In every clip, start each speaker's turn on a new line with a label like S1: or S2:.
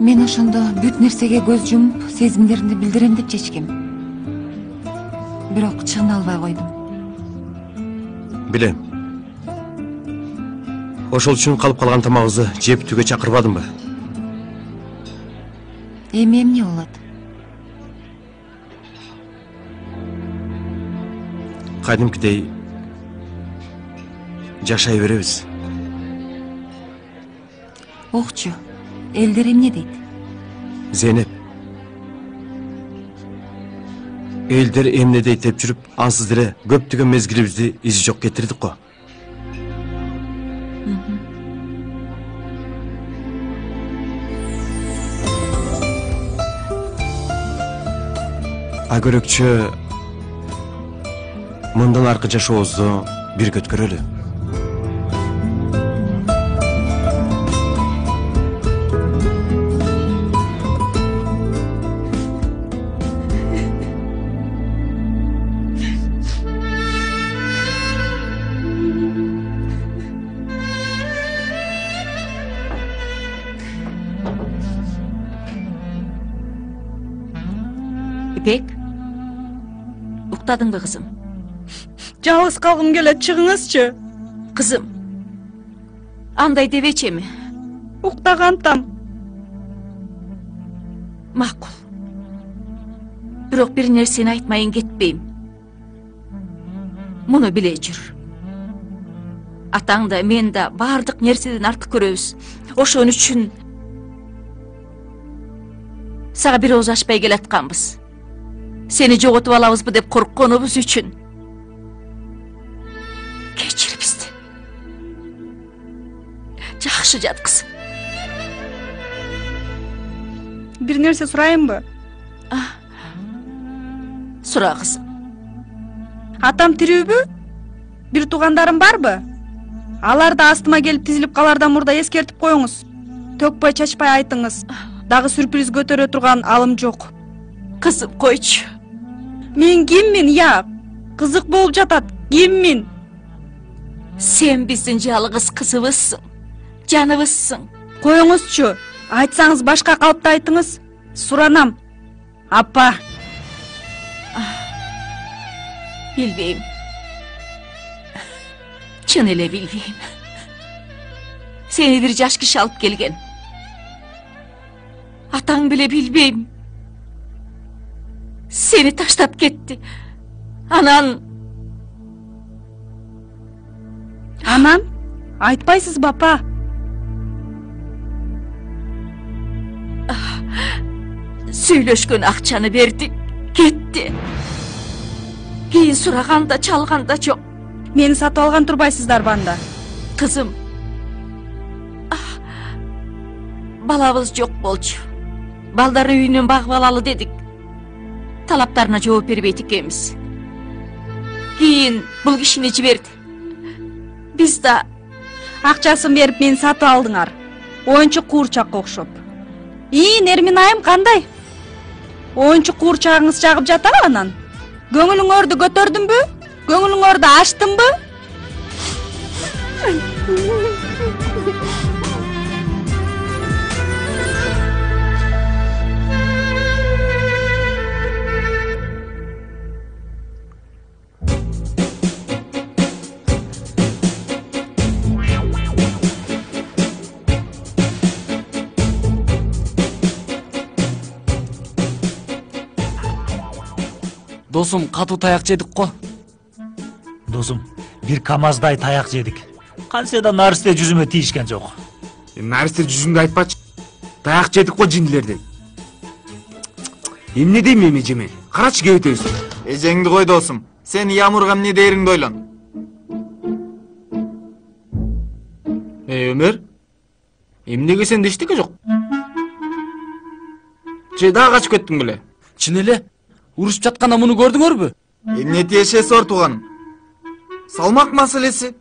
S1: Мен ошондо бүт нерсеге көз жумуп, сезимдеримди билдирем деп чечкем. Бирок чыгына албай койдум.
S2: Билем. Ошол үчүн калып калган тамагыбызды жеп түгө чакырбадымбы?
S1: Эми эмне болот?
S2: Кадимкидей жашай беребиз.
S1: Окчу, элдер эмне дейт?
S2: Зейнеп. Элдер эмне дейт деп жүрүп, ансыз деле көптөгөн мезгилибизди изи жок кетирдик го. Агөрөкчө мындан аркы жашообузду бирге өткөрөлү.
S3: İpek, uktadın mı kızım?
S4: Жалгыз калгым келет, чыгыңызчы.
S3: Kızım, андай девече mi?
S4: Уктагантам.
S3: Макул. Бирок бир нерсени айтмайын кетпейм. Муну биле жүр. Атаң да мен да бардык нерседен артык көрөбүз. Ошон үчүн сага бир ооз ачпай келатканбыз. Seni жоготуп алабызбы деп коркконубуз үчүн. Кечир бизди. Жакшы жат кызым.
S4: Бир нерсе сурайынбы?
S3: Сура кызым.
S4: Атам тирүүбү? Бир туугандарым барбы? Аларды астыма келип тизилип калардан мурда эскертип коюңуз. Төкпөй чачпай айтыңыз. Дагы сюрприз көтөрө турган алым жок.
S3: Кызым койчу.
S4: Мен киммин, я? Кызык болуп жатат. Киммин?
S3: Sen биздин жалгыз кызыбызсың. Жаныбызсың.
S4: Коюңузчу. Айтсаңыз башка калыпта айтыңыз. Суранам. Апа.
S3: Билбейм. Чын эле билбейм. Seni бир жаш киши алып келген. Атаң биле билбейм. Seni таштап кетти. Анан
S4: айтпайсызбы, апа?
S3: Сүйлөшкөн акчаны берди, кетти. Кийин сураганда, чалганда жок.
S4: Мени сатып алган турбайсыздарбы анда?
S3: Кызым, балабыз жок болчу. Балдар үйүнөн багып алалы дедик. Талаптарына жооп бербейт экенбиз. Кийин бул кишини жиберди. Биз да
S4: акчасын берип мени сатып алдыңар. Оюнчук куурчакка окшоп. Нермин айым кандай? Оюнчук куурчагыңыз жагып жатабы анан? Көңүлүңөрдү көтөрдүмбү? Көңүлүңөрдү ачтымбы?
S5: Досум, катуу таяк жедик го.
S6: Досум, бир камаздай таяк жедик. Кантсе да наристе жүзүмө тийишкен жок.
S7: Наристе жүзүңдү айтпачы. Таяк жедик го жиндилерден. Эмне дейм эми жеме? Карачы кебетебиз.
S8: Эжеңди кой досум. Сен Ямурга эмне дээриңди ойлон.
S7: Өмөр? Эмнеге сенде эчтеке жок? Же дагы качып кеттиң беле?
S5: Чын эле? Урушуп жатканда муну көрдүңөрбү?
S8: Эмне тиешеси бар тууганым? Салмак маселеси.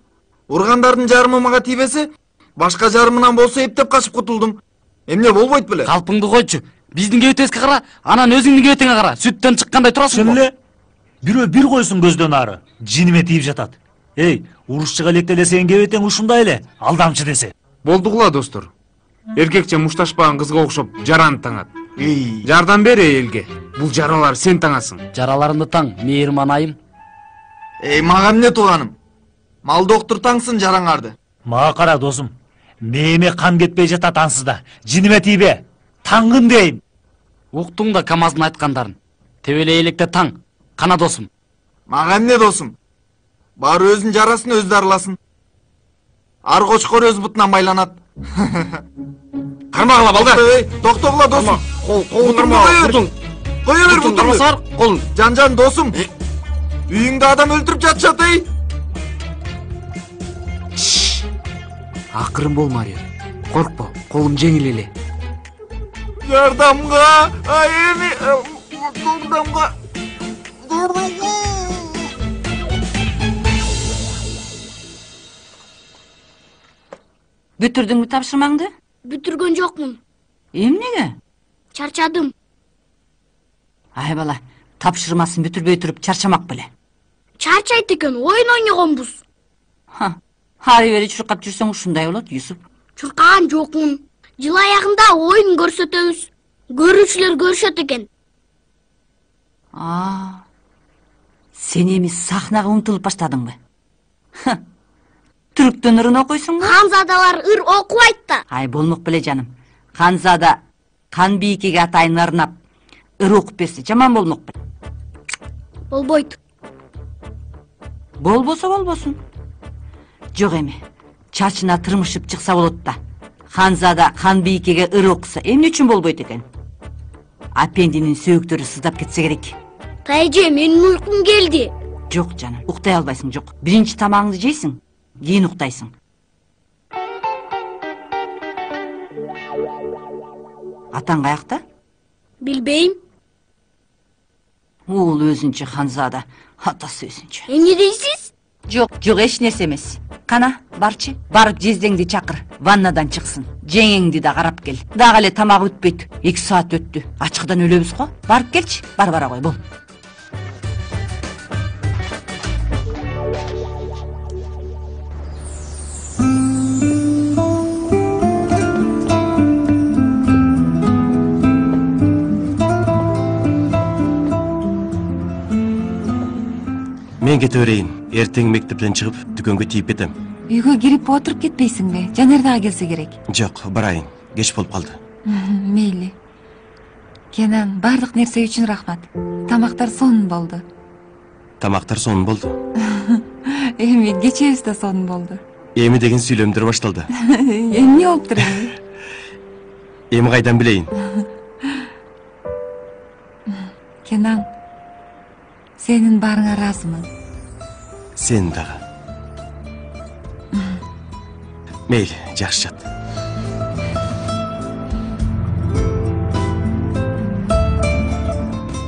S8: Ургандардын жарымы мага тийбесе, башка жарымынан болсо эптеп качып кутулдум. Эмне болбойт беле?
S5: Калпыңды койчу. Биздин кебетебизге кара, анан өзүңдүн кебетиңе кара. Сүттөн чыккандай турасың.
S6: Чын эле? Бирөө бир койсун көздөн ары. Жиниме тийип жатат. Урушчуга электеле сенин кебетең ушундай эле, алдамчы десе.
S7: Болдугула достор. эркекче мушташпаган кызга окшоп жараны таңат.
S8: Эй,
S7: Жардам бер элге. Бул жаралар сен таңасың.
S5: Жараларымды таң, мейирман айым.
S8: мага эмне тууганым? Мал доктур таңсын жараңарды.
S6: Мага кара досум. Мээме кан кетпей жатат ансызда. Жиниме тийбе. Таңгын дейм.
S5: Уктуң да КамАздын айткандарын. Тебелей электе таң. Кана досум.
S8: Мага эмне досум? Баары өзүнүн жарасын өзү дарыласын. Ар кочкор өз бутунан байланат.
S7: Кармагыла балдар.
S8: Токтогула досум.
S7: Колун карма.
S8: Кое бер бутумду.
S7: Колун.
S8: Жан досум. Үйүңдө адам өлтүрүп жатышат, эй.
S7: Акырын бол, Марио. Коркпо, колум жеңил эле.
S8: Жардамга, эми жардамга.
S1: Бүтүрдүңбү тапшырмаңды?
S9: Бүтүргөн жокмун.
S1: Эмнеге?
S9: Чарчадым.
S1: Ай бала, тапшырмасын бүтүрбөй туруп чарчамак беле.
S9: Чарчайт экен, оюн ойногонбуз.
S1: Ары бери чуркап жүрсөң ушундай болот, Юсуп.
S9: Чуркаган жокмун. Жыл аягында оюн көрсөтөбүз. Көрүүчүлөр көрүшөт экен.
S1: Сен эми сахнага умтулуп баштадыңбы? Түрктөн ырын окуйсуңбу?
S9: Ханзадалар ыр окубайт да.
S1: Ай болмок беле жаным. Ханзада хан бийикеге атайын ырнап, ыр окуп берсе жаман болмок беле.
S9: Болбойт.
S1: Болбосо болбосун. Жок эми, чачына тырмышып чыкса болот да. Ханзада хан бийикеге ыр окуса эмне үчүн болбойт экен? Апендинин сөөктөрү сыздап кетсе керек.
S9: Тайже, менин уйкум келди.
S1: Жок жаным, уктай албайсың, жок. Биринчи тамагыңды жейсиң, кийин уктайсың. Атаң каякта?
S9: Билбейм.
S1: Ул өзүнчө Ханзада, атасы өзүнчө.
S9: Эмне дейсиз?
S1: Жок, эч нерсе эмес. Кана, барчы. Барып жездеңди чакыр, ваннадан чыксын. Жеңеңди да карап кел. Дагы эле тамагы бүтпөйт. 2 саат өттү. Ачкыдан өлөбүз го. Барып келчи, бара кой, бол.
S2: Мен кете берейин. Эртең мектептен чыгып, дүкөнгө тийип кетем.
S1: Үйгө кирип отуруп кетпейсиңби? Жанер дагы келсе керек.
S2: Жок, барайын. Кеч болуп калды.
S1: Мейли. Кенан, бардык нерсе үчүн рахмат. Тамактар сонун болду.
S2: Тамактар сонун болду.
S1: Эми кечебиз да сонун болду.
S2: Эми деген сүйлөмдөр башталды.
S1: Эмне болуптур эми?
S2: Эми кайдан билейин?
S1: Кенан, сенин баарыңа ыраазымын.
S2: Сен дагы. Мейли, жакшы жат.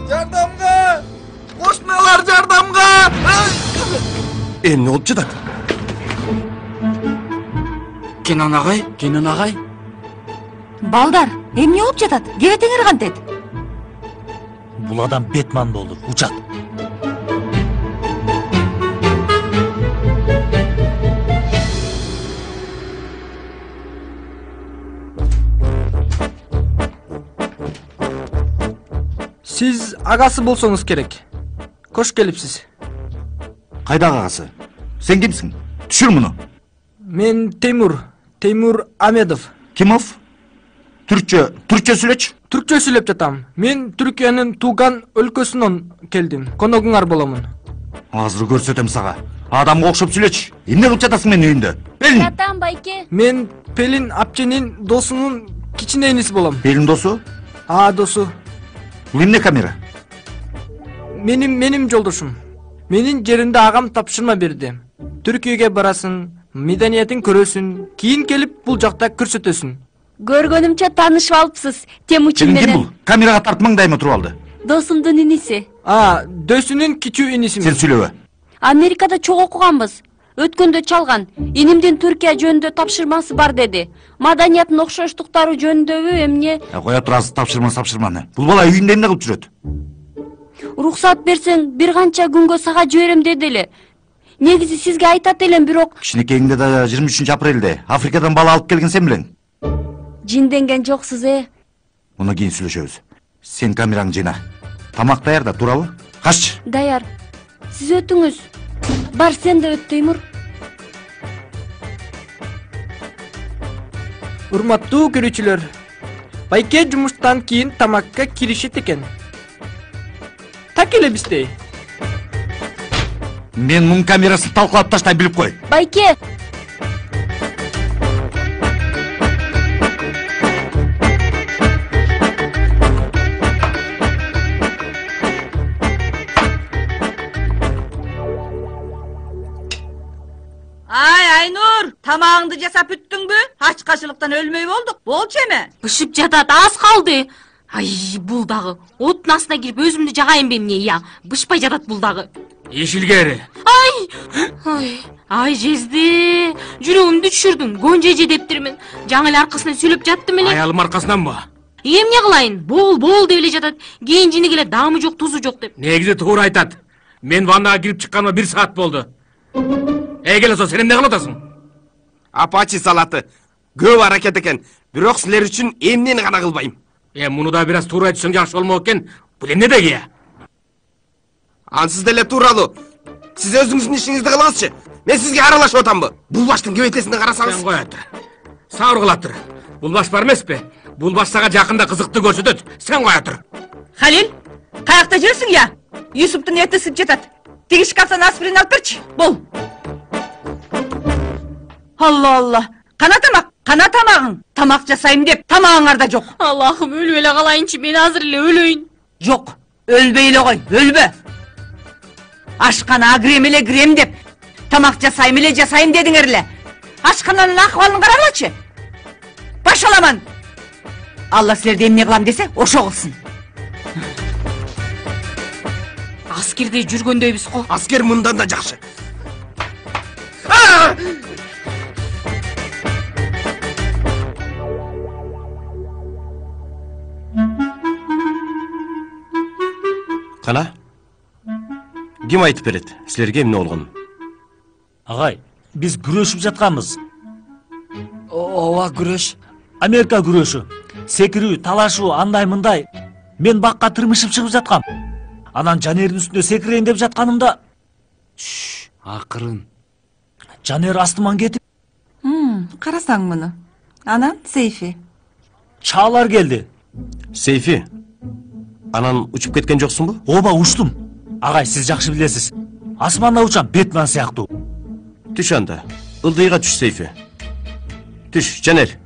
S8: Жардамга! Кошуналар жардамга!
S2: Эмне болуп жатат?
S7: Кенан агай?
S5: Кенен агай?
S1: Балдар, эмне болуп жатат? Кебетеңер кантет?
S6: Бул адам Бетман болду. Учат.
S10: Сиз агасы болсоңуз керек. Кош келипсиз.
S11: Кайдагы агасы? Сен кимсиң? Түшүр муну.
S10: Мен Теймур Амедов.
S11: Кимов? Түркчө сүйлөчү.
S10: Түркчө сүйлөп жатам. Мен Түркиянын тууган өлкөсүнөн келдим. Коногуңар боломун.
S11: Азыр көрсөтөм сага. Адамга окшоп сүйлөчү. Эмне кылып жатасың менин үйүндө? Пелин.
S9: Жатам, байке.
S10: Мен Пелин апченин досунун кичине иниси болом.
S11: Пелин досу?
S10: Досу.
S11: Бул эмне камера?
S10: Менин жолдошум. Менин жеримде агам тапшырма берди. Түркияга барасың, медениятын көрөсүн, кийин келип бул жакта көрсөтөсүн.
S9: Көргөнүмчө таанышып алыпсыз. Темучин
S11: Сен ким
S9: менен.
S11: бул? Камерага тартмаңдайма туруп алды.
S9: Досумдун иниси.
S10: Дөсүнүн кичүү иниси.
S11: Сен сүйлөбө.
S9: Америкада чогуу окуганбыз. Өткөндө чалган. Инимдин Түркия жөнүндө тапшырмасы бар деди. Маданиятын окшоштуктары жөнүндөбү эмне?
S11: Кое турасыз тапшырманы. Бул бала үйүндө эмне кылып жүрөт?
S9: Уруксат берсең, бир канча күнгө сага жиберем деди эле. Негизи сизге айтат элем, бирок
S11: Кичинекейиңде да 23 апрелде Африкадан бала алып келген сен белең.
S9: Жинденген жоксуз,
S11: Муну кийин сүйлөшөбүз. Сен камераңды жыйна. Тамак даярда, туурабы? Каччы.
S9: Даяр. Сиз өтүңүз. Бар, сен да өт, Теймур.
S10: Урматтуу көрүүчүлөр, Байке жумуштан кийин тамакка киришет экен. Так эле биздей.
S11: Мен мунун камерасын талкалап таштай билип кой.
S9: Байке!
S1: Айнур, тамагыңды жасап бүттүңбү? Ачкачылыктан өлмөй болдук. Болчу эме?
S3: Бышып жатат, аз калды. Ай, бул дагы. Оттун астына кирип өзүмдү жагайынбы эмне, я? Бышпай жатат бул дагы.
S5: Ишилгери.
S3: Ай, жезди. Жүрөгүмдү түшүрдүң. Гонжа эже дептирмин. Жаңы эле аркасынан сүйлөп жаттым эле.
S5: Аялым аркасынанбы?
S3: Эмне кылайын? Бол деп эле жатат. Кийин жини келе даамы жок, тузу жок деп.
S5: Негизи туура айтат. Мен ваннага кирип чыкканыма 1 саат болду. Келесо, сен эмне кылып атасың?
S7: Апачи салаты. Көп аракет экен. Бирок силер үчүн эмнени гана кылбайм.
S5: Муну да бир аз туура айтсаң жакшы болмок экен. Бул эмне деги?
S7: Ансыз деле тууралуу. Сиз өзүңүздүн ишиңизди кылыңызчы. Мен сизге аралашып атамбы? Бул баштын кебетесине карасаңыз.
S5: Сен коя тур. Сабыр кыла тур. Бул баш бар эмеспи? Бул баш сага жакында кызыктуу көрсөтөт. Сен коя тур.
S1: Халил, каякта жүрсүң я? Юсуптун эти ысып жатат. Тиги шкафтан аспирин алып берчи. Бол. Алла. Кана тамагың. Тамак жасайм деп тамагыңарда жок.
S3: Аллахым, өлүп эле калайынчы, мен азыр эле өлөйүн.
S1: Жок, өлбөй эле кой, өлбө. Ашкана кирем деп тамак жасайм дедиңер эле. Ашкананын акыбалын карагылачы. Баш аламан. Алла силерди эмне кылам десе, ошо кылсын.
S3: Аскерде жүргөндөйбүз го.
S7: Аскер мындан да жакшы.
S2: Кана? Ким айтып берет силерге эмне болгонун?
S6: Агай, биз күрөшүп жатканбыз.
S10: Ооба, күрөш.
S6: Америка күрөшү. Секирүү, талашуу, андай-мындай. Мен бакка тырмышып чыгып жаткам. Анан Жанердин үстүнө секирейин деп жатканымда,
S5: Акырын.
S6: Жанер астыман кетип,
S4: Карасаң муну. Анан Сейфи.
S6: чаалар келди.
S2: Сейфи, анан учуп кеткен жоксуңбу?
S6: Ооба, учтум. Агай, сиз жакшы билесиз. Асманда учам, Бетмен сыяктуу.
S2: Түш анда. Ылдыйга түш, Сейфи. Түш, Жанер.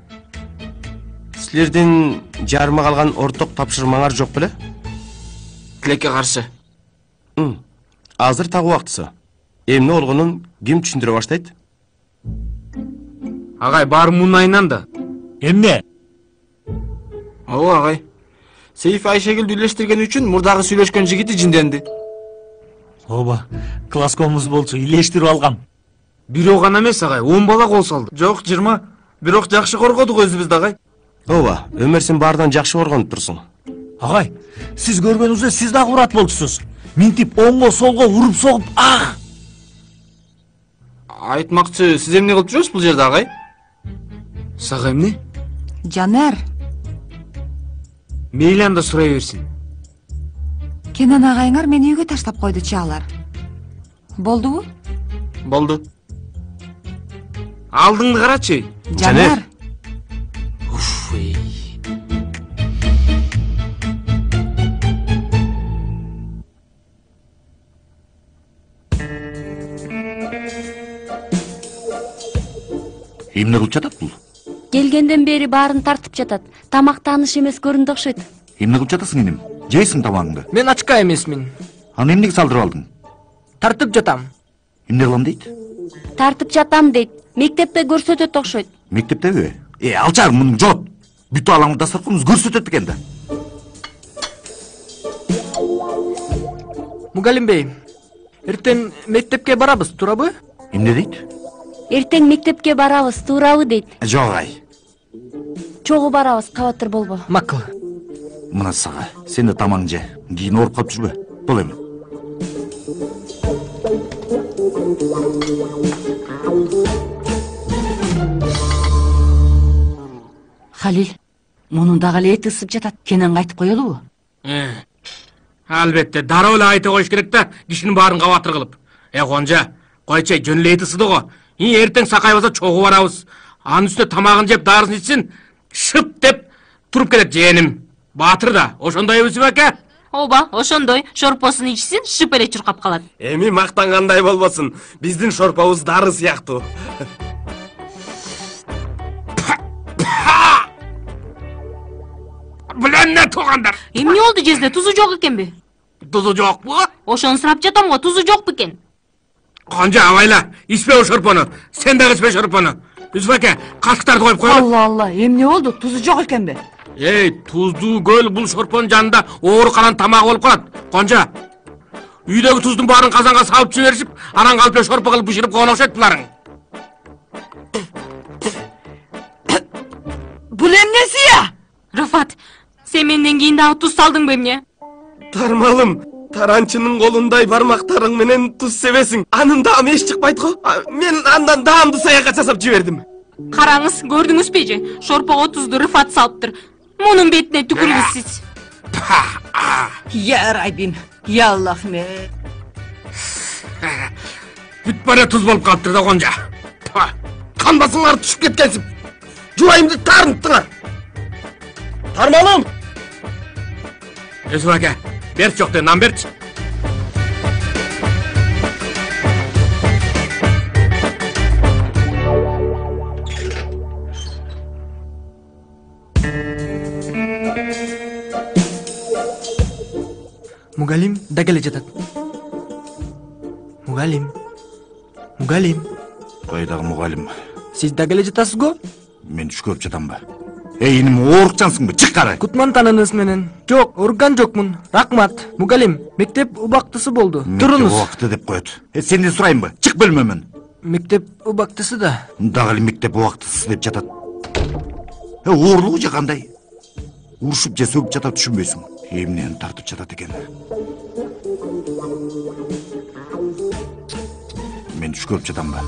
S2: Силердин жарыма калган орток тапшырмаңар жок беле?
S7: Тилекке каршы.
S2: Азыр так убактысы. Эмне болгонун ким түшүндүрө баштайт?
S7: Агай, баары мунун айынан да.
S6: Эмне?
S7: Ооба, агай. Сейфи Айшегүлдү үйлештирген үчүн мурдагы сүйлөшкөн жигити жинденди.
S6: Ооба, класскомуз болчу, илештирип алгам.
S7: Бирөө гана эмес, агай, 10 бала кол салды. Жок, 20. Бирок жакшы коргодук өзүбүздү, агай.
S2: Ооба, өмүр сен баардан жакшы коргонуп турсуң.
S6: Агай, сиз көргөнүңүздө сиз дагы урат болчусуз. Минтип оңго солго уруп согуп,
S7: Айтмакчы, сиз эмне кылып жүрөсүз бул жерде, агай? Сага эмне?
S4: Жанер,
S7: Мейли анда сурай берсин.
S4: Кенен агайыңар мени үйгө таштап койду, чаалар. Болдубу?
S7: Болду. Алдыңды карачы.
S4: Жанер.
S11: Эмне кылып жатат бул?
S9: Келгенден бери баарын тартып жатат. Тамак тааныш эмес көрүндү окшойт.
S11: Эмне кылып жатасың энем? Жейсиң тамагыңды?
S10: Мен ачка эмесмин.
S11: Аны эмнеге салдырып алдың?
S10: Тартып жатам.
S11: Эмне кылам дейт?
S9: Тартып жатам дейт. Мектепте көрсөтөт окшойт.
S11: Мектептеби? Алчар, муну жот. Бүтө алаңды дастарканыбыз көрсөтөт экен да.
S10: Мугалим бей, эртең мектепке барабыз, туурабы?
S11: Эмне дейт?
S9: Эртең мектепке барабыз, туурабы дейт.
S11: Жок, ай.
S9: Чогуу барабыз, кабатыр болбо.
S10: Макул.
S11: Мына сага, сен да тамагыңды же. Кийин ооруп калып жүрбө. Бол эми.
S1: Халил, мунун дагы эле эти ысып жатат. Кененге айтып коелубу?
S5: Албетте, дароо эле айта коюш керек да, кишинин баарын кабатыр кылып. Конжа, койчай, жөн эле эти ысыды го. Эртең сакайбаса чогуу барабыз. Анын үстүнө тамагын жеп, дарысын ичсин, шып деп туруп кетет жээним. Баатыр да, ошондой Юсуп аке?
S3: Ооба, ошондой. Шорпосун ичсин, шып эле чуркап калат.
S7: Эми мактангандай болбосун. Биздин шорпобуз дары сыяктуу.
S5: Билемне туугандар.
S3: Эмне болду жезде? Тузу жок экенби?
S5: Тузу жокпу?
S3: Ошону сурап жатам го, тузу жок бекен.
S5: Конжа, абайла, ичпе о шорпону. Сен дагы ичпе шорпону. Юсуп аке, кашыктарды коюп коелу.
S1: Алла, эмне болду? Тузу жок экенби?
S5: Туздуу көл бул шорпонун жанында оору калан тамагы болуп калат. Конжа, үйдөгү туздун баарын казанга салып жиберишип, анан калп эле шорпо кылып бышырып койгон окшойт буларың.
S1: Бул эмнеси я?
S3: Рыфат, сен менден кийин дагы туз салдыңбы эмне?
S7: Тармалым, таранчынын колундай бармактарың менен туз себесиң. Анын даамы эч чыкпайт го. Мен андан даамды саякат жасап жибердим.
S3: Караңыз, көрдүңүзбү же? Шорпого тузду Рыфат салыптыр. Мунун бетине түкүрүңүз сиз.
S1: Я Раббим, я Аллахым.
S5: Бүт бара туз болуп калыптыр да Конжа.
S7: Канбасыңар түшүп кеткенсип. Жубайымды тарынттыңар. Тармалым.
S5: Юсуп аке, берчи жок, нан берчи.
S10: Мугалим да келе жатат. Мугалим.
S11: Кайдагы мугалим?
S10: Сиз да келе жатасыз го?
S11: Мен түш көрүп жатамбы? Иним оорукчансыңбы? Чык кара.
S10: Кутмантаныңыз менен. Жок, ооруган жокмун. Рахмат. Мугалим, мектеп убактысы болду. Туруңуз.
S11: Мектеп убакты деп коет. Сенден сурайынбы? Чык бөлмөмөн.
S10: Мектеп убактысы да.
S11: Дагы эле мектеп убактысы деп жатат. Оорлугу же кандай? Урушуп же сөгүп жатат түшүнбөйсүң. Эмнени тартып жатат экен. Мен түш көрүп жатамбы?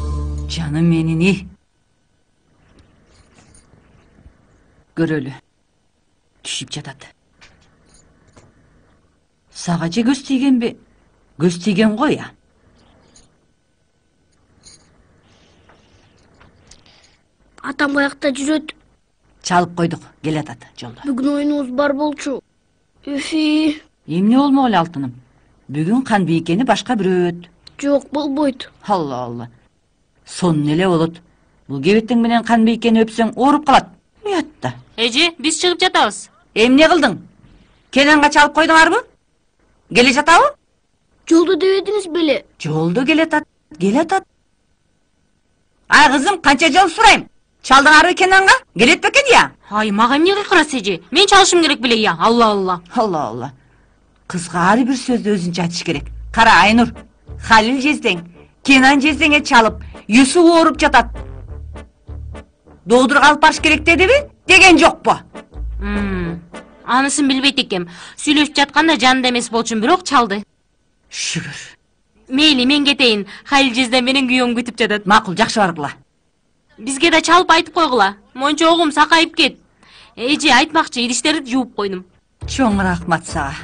S1: Жаным менин. Көрөлү. Түшүп жатат. Сага же көз тийгенби? Көз тийген го я.
S12: Атам каякта жүрөт?
S1: Чалып койдук, келатат жолдо.
S12: Бүгүн оюнубуз бар болчу. Үфи.
S1: Эмне болмок эле алтыным? Бүгүн Канбийкени башка бирөө өт.
S12: Жок, болбойт.
S1: Алла. Сонун эле болот. Бул кебеттең менен Канбийкени өпсөң ооруп калат. Уятта.
S3: Эже, биз чыгып жатабыз.
S1: Эмне кылдың? Кененга чалып койдуңарбы? Келе жатабы?
S12: Жолдо дебедиңиз беле?
S1: Жолдо келатат. Ай кызым, канча жол сурайм? Чалдыңарбы Кененга? Келет бекен я?
S3: Ай, мага эмне кыйкырасыз эже? Мен чалышым керек беле я. Алла.
S1: Кызга ар бир сөздү өзүнчө айтыш керек. Кара Айнур, Халил жездең, Кенан жездеңе чалып, Юсуп ооруп жатат. Доодурга алып барыш керек дедиби? Деген жокпу?
S3: Анысын билбейт экем. Сүйлөшүп жатканда жанында эмес болчумун, бирок чалды.
S1: Шүгүр.
S3: Мейли, мен кетейин. Халил жездем менен күйөөм күтүп жатат.
S1: Макул, жакшы баргыла.
S3: Бизге да чалып айтып койгула. Мончогум сакайып кет. Эже, айтмакчы, идиштерди жууп койдум.
S1: Чоң рахмат сага.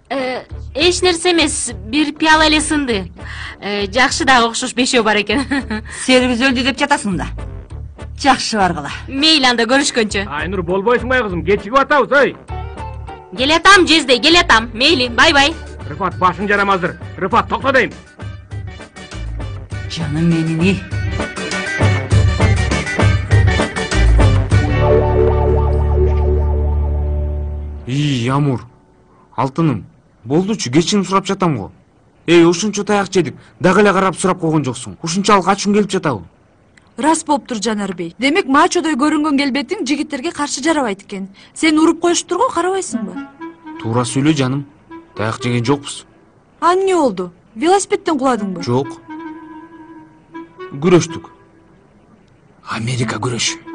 S3: Эч нерсе эмес, бир пияла эле сынды. Жакшы дагы окшош бешөө бар экен.
S1: Серибиз өлдү деп жатасың да. Жакшы баргыла.
S3: Мейли, анда көрүшкөнчө.
S5: Айнур, болбойсуңбай кызым, кечигип атабыз, ой.
S3: Келатам, жезде, келатам. Мейли, бай.
S5: Рыфат, башың жарамаздыр. Рыфат, токто дейм.
S1: Жаным менин.
S10: Амур, алтыным, болдучу, кечирим сурап жатам го. Ушунчо таяк жедик, дагы эле карап сурап койгон жоксуң. Ушунчалык ачууң келип жатабы?
S4: Рас болуптур Жанарбей. Демек мачодой көрүнгөн келбетиң жигиттерге каршы жарабайт экен. Сени уруп коюштур го, карабайсыңбы?
S10: Туура сүйлө жаным. Таяк жеген жокпуз.
S4: А эмне болду? Велосипедден куладыңбы?
S10: Жок. Күрөштүк. Америка күрөшү.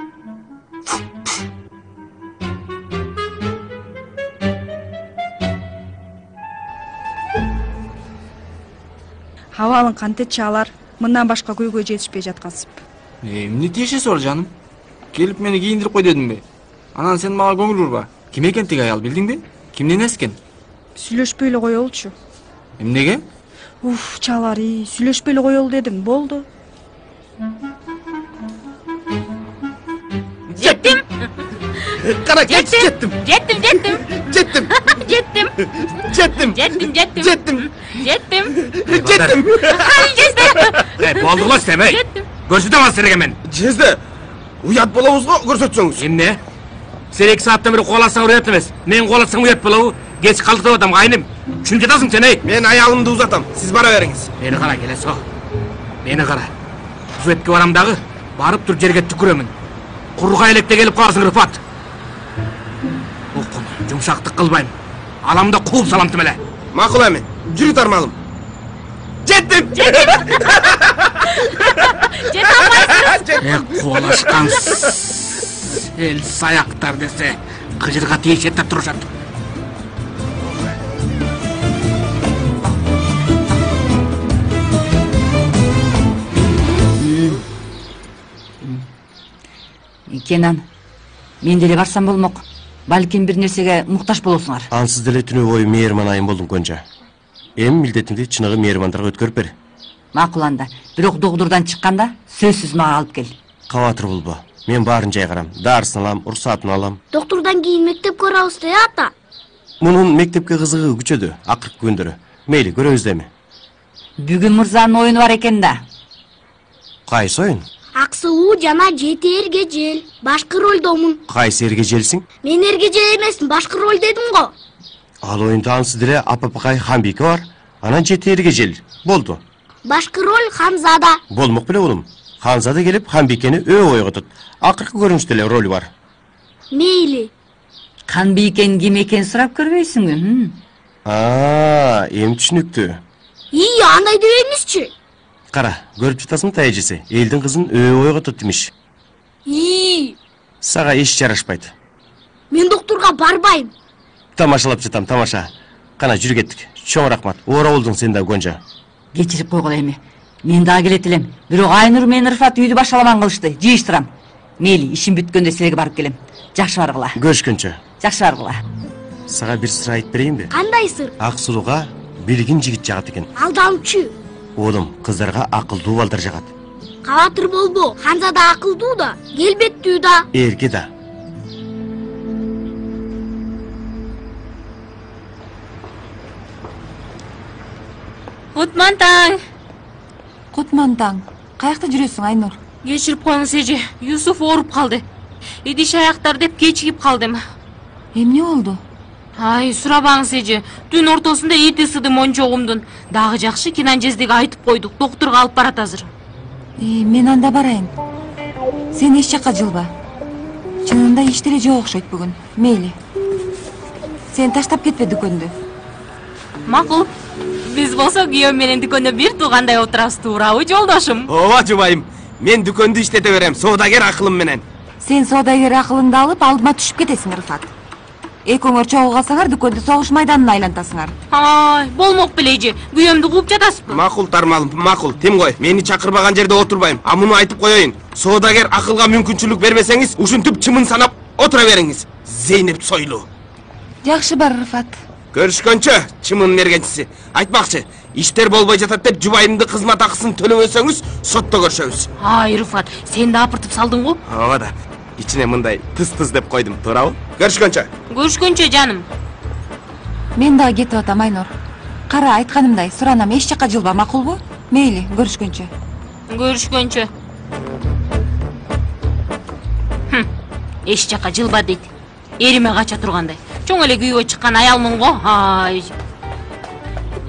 S4: Абалың кантет чаалар, мындан башка көйгөй жетишпей жаткансып.
S10: Эмне тиешеси бар жаным? Келип мени кийиндирип кой дедимби? Анан сен мага көңүл бурба. Ким экен тиги аял, билдиңби? Кимдин энеси экен?
S4: Сүйлөшпөй эле коелучу.
S10: Эмнеге?
S4: Уф, чалари, сүйлөшпөй эле коелу дедим, болду.
S3: Жеттим.
S7: Кара, жеттим.
S3: Жеттим.
S7: Жеттим.
S3: Жеттим.
S7: Жеттим.
S3: Жеттим.
S7: Жеттим.
S3: Жеттим.
S5: Эй, болду го сем, эй. Көрсөтөм силерге мен.
S7: Жезде, уят болобуз го, көрсөтсөңүз.
S5: Эмне? Сен 2 сааттан бери кубаласаң уят эмес. Мен кубаласаң уят болобу? Кеч калдык деп атам, кайным. Түшүнүп жатасың сен, эй.
S7: Мен аялымды узатам, сиз бара бериңиз.
S5: Мени кара, келесо. Мени кара. Буфетке барам дагы, барып туруп жерге түкүрөмүн. Курга электе келип каласың, Рыфат. Окун, жумшактык кылбайм. Алам да кууп салам эле.
S7: Макул эми, жүрү тармалым. Жеттим.
S3: Жете албайсыз.
S5: Кубалашкан эл саяктар десе, кыжырга тийишет деп турушат.
S1: Кенан, мен деле барсам болмок. Балким бир нерсеге муктаж болосуңар.
S2: Ансыз деле түнү бою мээрман айым болдуң Гонжа. Эми милдетиңди чыныгы мээрмандарга өткөрүп бер.
S1: Макул анда. Бирок доктурдан чыкканда сөзсүз мага алып кел.
S2: Кабатыр болбо. Мен баарын жайгарам. Дарысын алам, уруксатын алам.
S12: Доктурдан кийин мектепке барабыз да, ата.
S2: Мунун мектепке кызыгы күчөдү акыркы күндөрү. Мейли, көрөбүз деми.
S1: Бүгүн мырзанын оюну бар экен да.
S2: Кайсы оюн?
S12: Аксуу жана жети эргежел. Башкы ролдомун.
S2: Кайсы эргежелсиң?
S12: Мен эргежел эмесмин, башкы роль дедим го.
S2: Ал оюнда ансыз деле Апапакай Хамбике бар. Анан жети эргежел. Болду.
S12: Башкы роль Ханзада.
S2: Болмок беле улум. Ханзада келип Хамбикени өө ойготот. Акыркы көрүнүштө эле роль бар.
S12: Мейли.
S1: Канбийкен ким экенин сурап көрбөйсүңбү?
S2: Эми түшүнүктүү.
S12: Андай дебеңизчи.
S2: Кара, көрүп жатасың тайжеси. Элдин кызын өө ойготот демиш. Сага эч жарашпайт.
S12: Мен доктурга барбайм.
S2: Тамашалап жатам, тамаша. Кана жүрүп кеттик. Чоң рахмат. Ора болдуң сен да, Гонжа.
S1: Кечирип койгула эми. Мен дагы келет элем. Бирок Айнур менен Рыфат үйдү башаламан кылышты. Жыйыштырам. Мейли, ишим бүткөндө силерге барып келем. Жакшы баргыла.
S2: Көрүшкөнчө.
S1: Жакшы баргыла.
S2: Сага бир сыр айтып берейинби?
S12: Кандай сыр?
S2: Ак сулууга билгин жигит жагат экен.
S12: Алдамчы.
S2: Оолум, кыздарга акылдуу балдар жагат.
S12: Кабатыр болбо. Ханзада акылдуу да, келбеттүү да.
S2: Эрке да.
S3: Кутман таң.
S4: Кутман таң. Каякта жүрөсүң, Айнур?
S3: Кечирип коюңуз эже. Юсуф ооруп калды. Идиш аяктар деп кечигип калдым.
S4: Эмне болду?
S3: Сурабаңыз эже. Түн ортосунда эти сыды мончогумдун. Дагы жакшы Кенан жездеге айтып койдук. Доктурга алып барат азыр.
S4: Мен анда барайын. Сен эч жакка жылба. Чынында иш деле жок окшойт бүгүн. Мейли. Сен таштап кетпе дүкөндү.
S3: Макул. Биз болсо күйөөм менен дүкөндө бир туугандай отурабыз, туурабы жолдошум?
S7: Ооба жубайым. Мен дүкөндү иштете берем, соодагер акылым менен.
S4: Сен соодагер акылыңды алып алдыма түшүп кетесиң, Рыфат. Экөөңөр чогуу калсаңар дүкөндү согуш майданына айлантасыңар.
S3: Болмок беле эже. Күйөөмдү кууп жатасызбы?
S7: Макул тармалым, макул. Тим кой. Мени чакырбаган жерде отурбайм. Муну айтып коеюн. Соодагер акылга мүмкүнчүлүк бербесеңиз, ушинтип чымын санап отура бериңиз. Зейнеп Сойлу.
S4: Жакшы бар, Рыфат.
S7: Көрүшкөнчө, чымын мергенчиси. Айтмакчы, иштер болбой жатат деп жубайымды кызмат акысын төлөбөсөңүз, сотто көрүшөбүз.
S3: Рыфат, сен да апыртып салдың го?
S7: Ооба да. Ичине мындай тыз-тыз деп койдум, туурабы? Көрүшкөнчө.
S3: Көрүшкөнчө, жаным.
S4: Мен дагы кетип атам, Айнур. Кара, айтканымдай, суранам, эч жакка жылба, макулбу? Мейли, көрүшкөнчө.
S3: Көрүшкөнчө. Эч жакка жылба дейт. Эриме кача тургандай. Чоң эле күйөө чыккан аялмын го.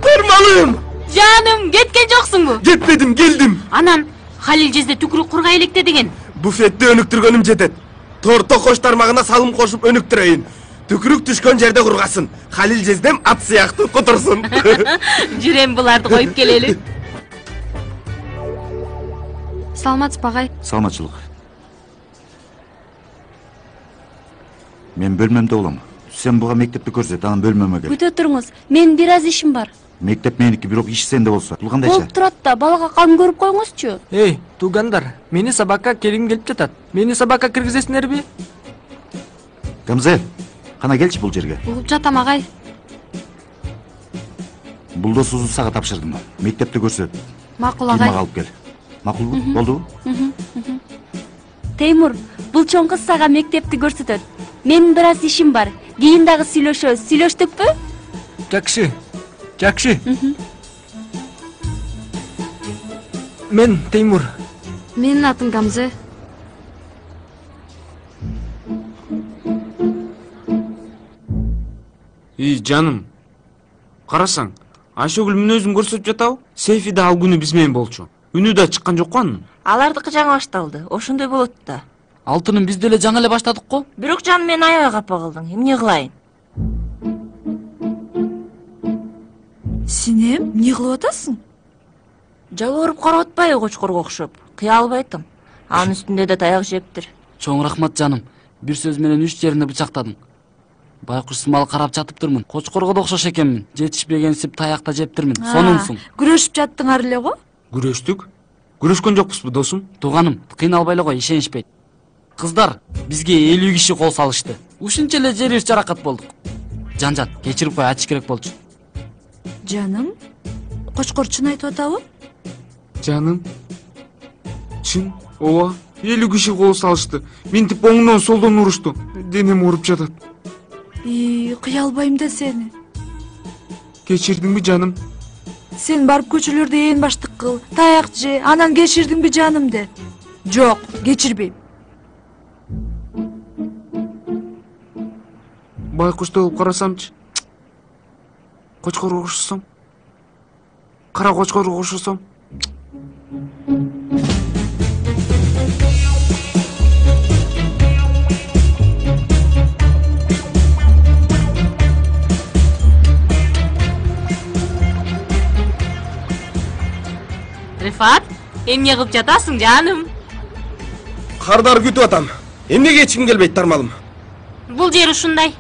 S7: Тармалым!
S3: Жаным, кеткен жоксуңбу?
S7: Кетпедим, келдим.
S3: Анан Халил жезде түкүрүк курга электе деген.
S7: Буфетте өнүктүргөнүм жетет. Торто кош тармагына салым кошуп өнүктүрөйүн. Түкүрүк түшкөн жерде кургасын. Халил жездем ат сыяктуу которсун.
S3: Жүрем буларды коюп келели.
S4: Саламатсызбы, агай?
S11: Саламатчылык. Мен бөлмөмдө болом. Сен буга мектепти көрсөт, анан бөлмөмө кел.
S9: Күтө туруңуз. Менин бир аз ишим бар.
S11: Мектеп меники, бирок иш сенде болсо. Бул кандайча?
S9: Болуп турат да, балага кам көрүп коюңузчу.
S13: Туугандар, мени сабакка келгим келип жатат. Мени сабакка киргизесиңерби?
S11: Гамзел, кана келчи бул жерге.
S9: Угуп жатам агай.
S11: Булдосузду сага тапшырдым. Мектепти көрсөт.
S9: Макул агай.
S11: Кийимак алып кел. Макулбу? Болдубу?
S9: Теймур, бул чоң кыз сага мектепти көрсөтөт. Менин бир аз ишим бар. Кийин дагы сүйлөшөбүз. Сүйлөштүкпү?
S6: Жакшы. Жакшы. Мен Теймур.
S3: Менин атым Гамзе.
S10: Жаным, карасаң, Айшөгүл мүнөзүн көрсөтүп жатабы? Сейфи да ал күнү биз менен болчу. Үнү да чыккан жокпу анын?
S13: Алардыкы жаңы башталды. Ошондой болот да.
S14: Алтыным биз деле жаңы эле баштадык го.
S13: Бирок жаным, мен аябай капа кылдым. Эмне кылайын?
S4: Синем, эмне кылып атасың?
S13: Жалбырып карап атпайбы кочкорго окшоп? Кыя албайтым. Анын үстүндө да таяк жептир.
S14: Чоң рахмат жаным. Бир сөз менен 3 жерине бычактадың. Байкуш сымал карап жатыптырмын. Кочкорго да окшош экенмин. Жетишпегенсип таякта жептирмин. Сонунсуң.
S4: Күрөшүп жаттыңар эле го?
S10: Күрөштүк? Күрөшкөн жокпузбу, досум?
S14: Тууганым, кыйналбай эле кой, ишенишпейт. Кыздар, бизге 50 киши кол салышты. Ушунча эле жерибиз жаракат болдук. Жан-жат, кечирип кой, ачыш керек болчу.
S4: Жаным, кочкор чын айтып атабы?
S10: Жаным, чын, ооба, 50 киши кол салышты. Минтип оңдон солдон урушту. Денем ооруп жатат.
S4: Кыя албайм да сени.
S10: Кечирдиңби, жаным?
S4: Сен барып көчөлөрдө ээн баштык кыл, таяк же, анан кечирдиңби жаным де. Жок, кечирбейм.
S10: Байкуштой болуп карасамчы. Кочкорго окшосом. Кара кочкорго окшосом.
S3: Рифат, эмне кылып жатасың, жаным?
S7: Кардар күтүп атам. Эмнеге эч ким келбейт, тармалым?
S3: Бул жер ушундай.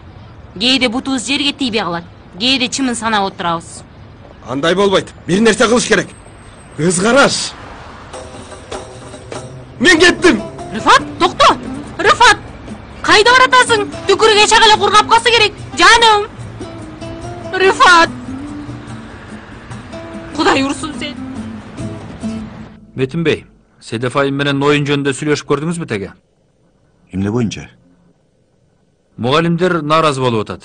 S3: Кээде бутубуз жерге тийбей калат. Кээде чымын санап отурабыз.
S7: Андай болбойт. Бир нерсе кылыш керек. Көз караш. Мен кеттим.
S3: Рифат, токто. Рифат, кайда баратасың? Түкүрүгө чак эле кур капкасы керек, жаным. Рифат. Кудай урсун сен.
S15: Метинбей, Седеф айым менен оюн жөнүндө сүйлөшүп көрдүңүзбү теге?
S11: Эмне боюнча?
S15: Мугалимдер нааразы болуп атат.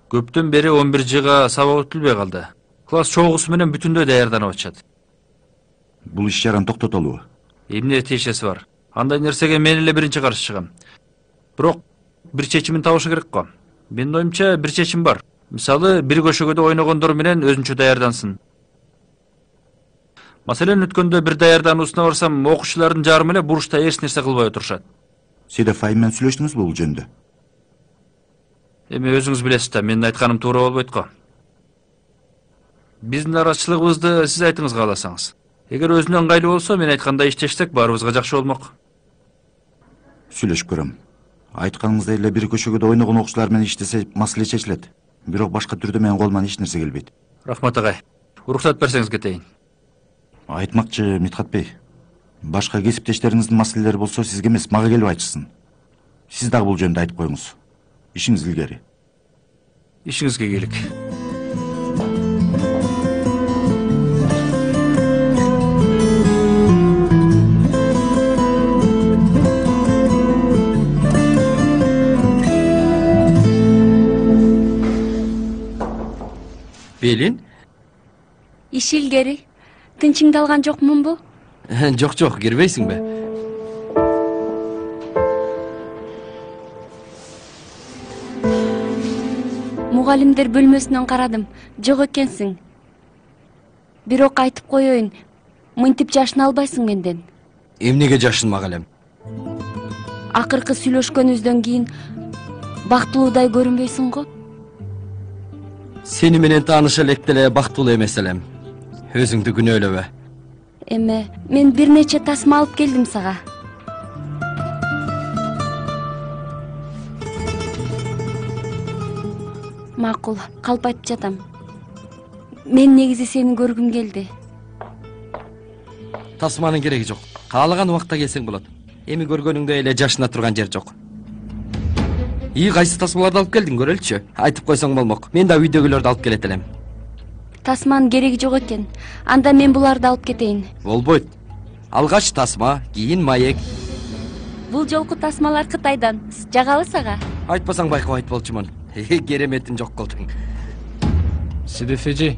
S15: Көптөн бери 11Жга сабак өтүлбөй калды. Класс чогуусу менен бүтүндөй даярданып атышат.
S11: Бул иш жаран токтотолубу?
S15: Эмне тиешеси бар? Андай нерсеге мен эле биринчи каршы чыгам. Бирок бир чечимин табышы керек го. Менин оюмча бир чечим бар. Мисалы, бир көшөгөдө ойногондор менен өзүнчө даярдансын. Маселен, өткөндө бир даярдануусуна барсам, окуучулардын жарымы эле бурушта эч нерсе кылбай отурушат.
S11: Седеф айым менен сүйлөштүңүзбү бул жөнүндө?
S15: Эми өзүңүз билесиз да, менин айтканым туура болбойт го. Биздин арачылыгыбызды сиз айтыңыз кааласаңыз. Эгер өзүнө ыңгайлуу болсо, мен айткандай иштешсек, баарыбызга жакшы болмок.
S11: Сүйлөшүп көрөм. Айтканыңыздай эле бир көчөгөдө ойногон окуучулар менен иштесе маселе чечилет. Бирок башка түрдө менин колуман эч нерсе келбейт.
S15: Рахмат агай. Уруксат берсеңиз кетейин.
S11: Айтмакчы Митхат бей. Башка кесиптештериңиздин маселелери болсо сизге эмес, мага келип айтышсын. Сиз дагы бул жөнүндө айтып коюңуз. Ишиңиз илгери.
S15: Ишиңизге келик.
S2: Белин?
S9: Иш илгери. Тынчыңды алган жокмунбу?
S2: Жок, кирбейсиңби?
S9: Мугалимдер бөлмөсүнөн карадым. Жок экенсиң. Бирок айтып коеюн, мынтип жашына албайсың менден.
S2: Эмнеге жашынмак элем?
S9: Акыркы сүйлөшкөнүбүздөн кийин бактылуудай көрүнбөйсүң го?
S2: Сени менен тааныша элек деле бактылуу эмес элем. Өзүңдү күнөөлөбө.
S9: Эме, мен бир нече тасма алып келдим сага. Макул, калп айтып жатам. Мен негизи сени көргүм келди.
S2: Тасманын кереги жок. Каалаган убакта келсең болот. Эми көргөнүңдөй эле жашына турган жер жок. Кайсы тасмаларды алып келдиң, көрөлүчү? Айтып койсоң болмок. Мен да үйдөгүлөрдү алып келет элем.
S9: Тасманын кереги жок экен. Анда мен буларды алып кетейин.
S2: Болбойт. Алгач тасма, кийин маек.
S9: Бул жолку тасмалар Кытайдан. Жагалы сага?
S2: Айтпасаң байкап айтполчумун. Кереметин жок кылдың.
S16: Седеф эже.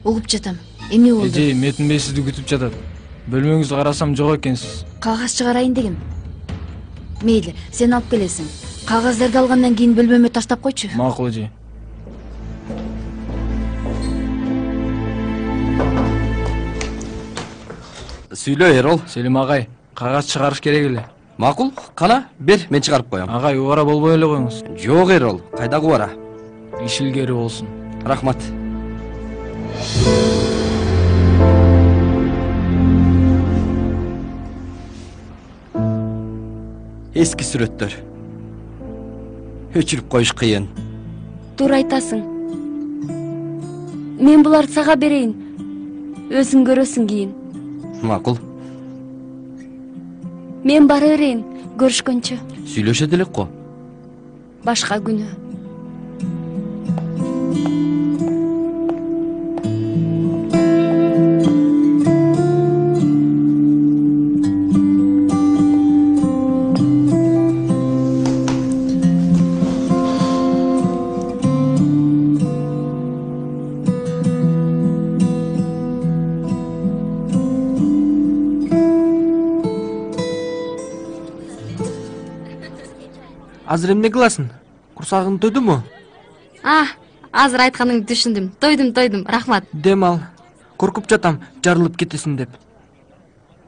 S17: Угуп жатам. Эмне болду?
S16: Эже, Метин Бей сизди күтүп жатат. Бөлмөңүздү карасам жок экенсиз.
S17: Кагаз чыгарайын дегем. Мейли, сен алып келесиң. Кагаздарды алгандан кийин бөлмөмө таштап койчу.
S16: Макул эже.
S2: Сүйлө, Эрол.
S16: Селим агай, кагаз чыгарыш керек эле.
S2: Макул, кана, бер, мен чыгарып коем.
S16: Агай, убара болбой эле коюңуз.
S2: Жок, Эрол, кайдагы убара?
S16: Иш илгери болсун.
S2: Рахмат. Эски сүрөттөр. Өчүрүп коюш кыйын.
S9: Туура айтасың. Мен буларды сага берейин. Өзүң көрөсүң кийин.
S2: Макул.
S9: Мен бара берейин, көрүшкөнчө.
S2: Сүйлөшөт элек го.
S9: Башка күнү.
S18: Азыр эмне кыласың? Курсагың тойдуму?
S19: Азыр айтканыңды түшүндүм. Тойдум, рахмат.
S18: Дем ал. Коркуп жатам, жарылып кетесиң деп.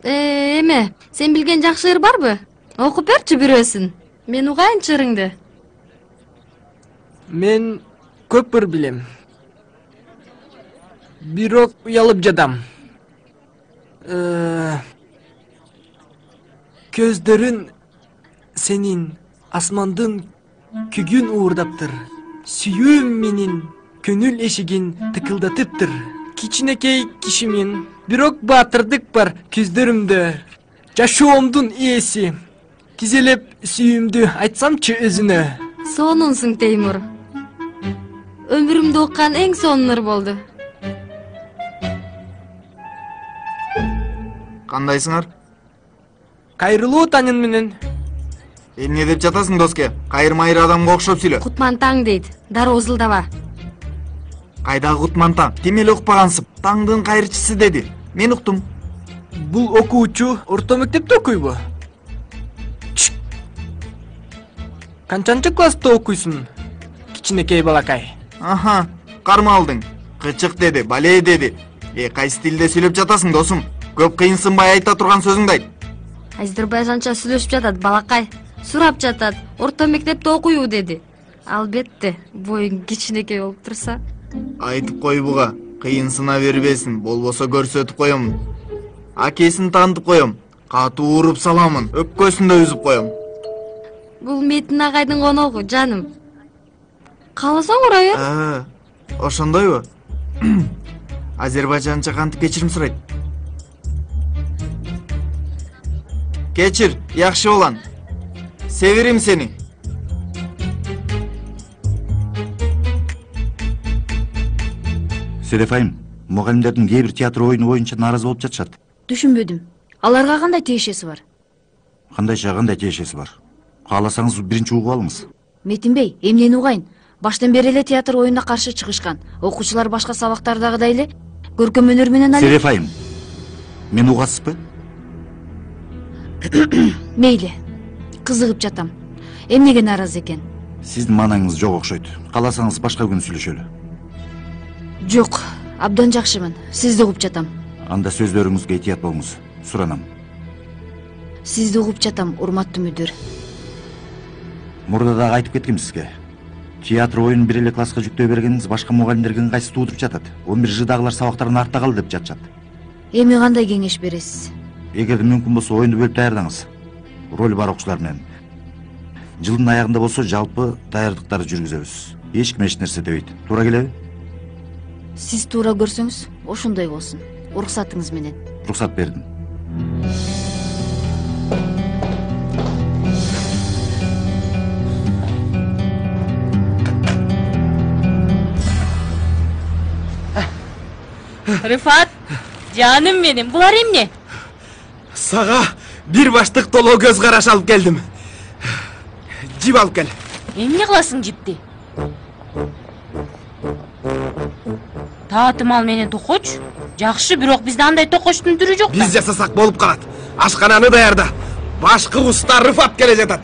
S19: Эме, сен билген жакшы ыр барбы? Окуп берчи бирөөсүн. Мен угайынчы ырыңды.
S18: Мен көп ыр билем. Бирок уялып жатам. Көздөрүн сенин асмандын күгүн уурдаптыр. Сүйүүм менин көңүл эшигин тыкылдатыптыр. Кичинекей кишимин, бирок баатырдык бар көздөрүмдө. Жашоомдун ээси. Тизелеп сүйүүмдү айтсамчы өзүнө.
S19: Сонунсуң, Теймур. Өмүрүмдө уккан эң сонун ыр болду.
S8: Кандайсыңар?
S18: Кайрылуу таңын менен.
S8: Эмне деп жатасың, доске? Кайыр-майыр адамга окшоп сүйлө.
S19: Кутман таң дейт. Дароо узулдаба.
S8: Кайдагы Кутман таң? Ким эле укпагансып? Таңдын кайрчысы деди. Мен уктум.
S18: Бул окуучу орто мектепте окуйбу? Канчанчы класста окуйсуң? Кичинекей балакай.
S8: Аха, кармалдың. Кычык деди, бале деди. Кайсы тилде сүйлөп жатасың, досум? Көп кыйынсынбай айта турган сөзүңдү айт.
S19: Азербайжанча сүйлөшүп жатат, балакай. Сурап жатат, орто мектепте окуйбу деди. Албетте, боюң кичинекей болуп турса.
S8: Айтып кой буга, кыйынсына бербесин, болбосо көрсөтүп коем. Акесин таанытып коем, катуу уруп саламын, өпкөсүндө үзүп коем.
S19: Бул Метин агайдын коногу, жаным. Кааласаң ура бер.
S8: Ошондойбу? Азербайжанча кантип кечирим сурайт? Кечир, жакшы болан. Северим сени.
S11: Селефайым, мугалимдердин кээ бир театр оюну боюнча нааразы болуп жатышат.
S17: Түшүнбөдүм. Аларга кандай тиешеси бар?
S11: Кандай тиешеси бар? Кааласаңыз биринчи угуп алыңыз.
S17: Метинбей, эмнени угайын? Баштан бери эле театр оюнуна каршы чыгышкан. Окуучулар башка сабактардагыдай эле көркөм өнөр менен
S11: Селефайым, мен угасызбы?
S17: Мейли, кызыгып жатам. Эмнеге нааразы экен?
S11: Сиздин маанаңыз жок окшойт. Кааласаңыз башка күн сүйлөшөлү.
S17: Жок, абдан жакшымын. Сизди угуп жатам.
S11: Анда сөздөрүңүзгө этият болуңуз. Суранам.
S17: Сизди угуп жатам, урматтуу мүдүр.
S11: Мурда дагы айтып кеткем сизге. Театр оюнун бир эле класска жүктөө бергениңиз башка мугалимдерге ыңгайсыз туудуруп жатат. 11Ждагылар сабактарын артта калды деп жатышат.
S17: Эми кандай кеңеш бересиз?
S11: Эгерде мүмкүн болсо оюнду бөлүп даярдаңыз. Роль бар окуучулар менен. Жылдын аягында болсо жалпы даярдыктарды жүргүзөбүз. Эч ким эч нерсе дебейт. Туура келеби?
S17: Сиз туура көрсөңүз, ошондой болсун. Уруксатыңыз менен.
S11: Уруксат бердим.
S3: Рыфат, жаным менин, булар эмне?
S7: Сага бир баштык толоо көз караш алып келдим. Жип алып кел.
S3: Эмне кыласың жипти? Таатымал менен токоч? Жакшы, бирок бизде андай токочтун түрү жок да.
S7: Биз жасасак болуп калат. Ашкананы даярда. Башкы уста Рыфат келе жатат.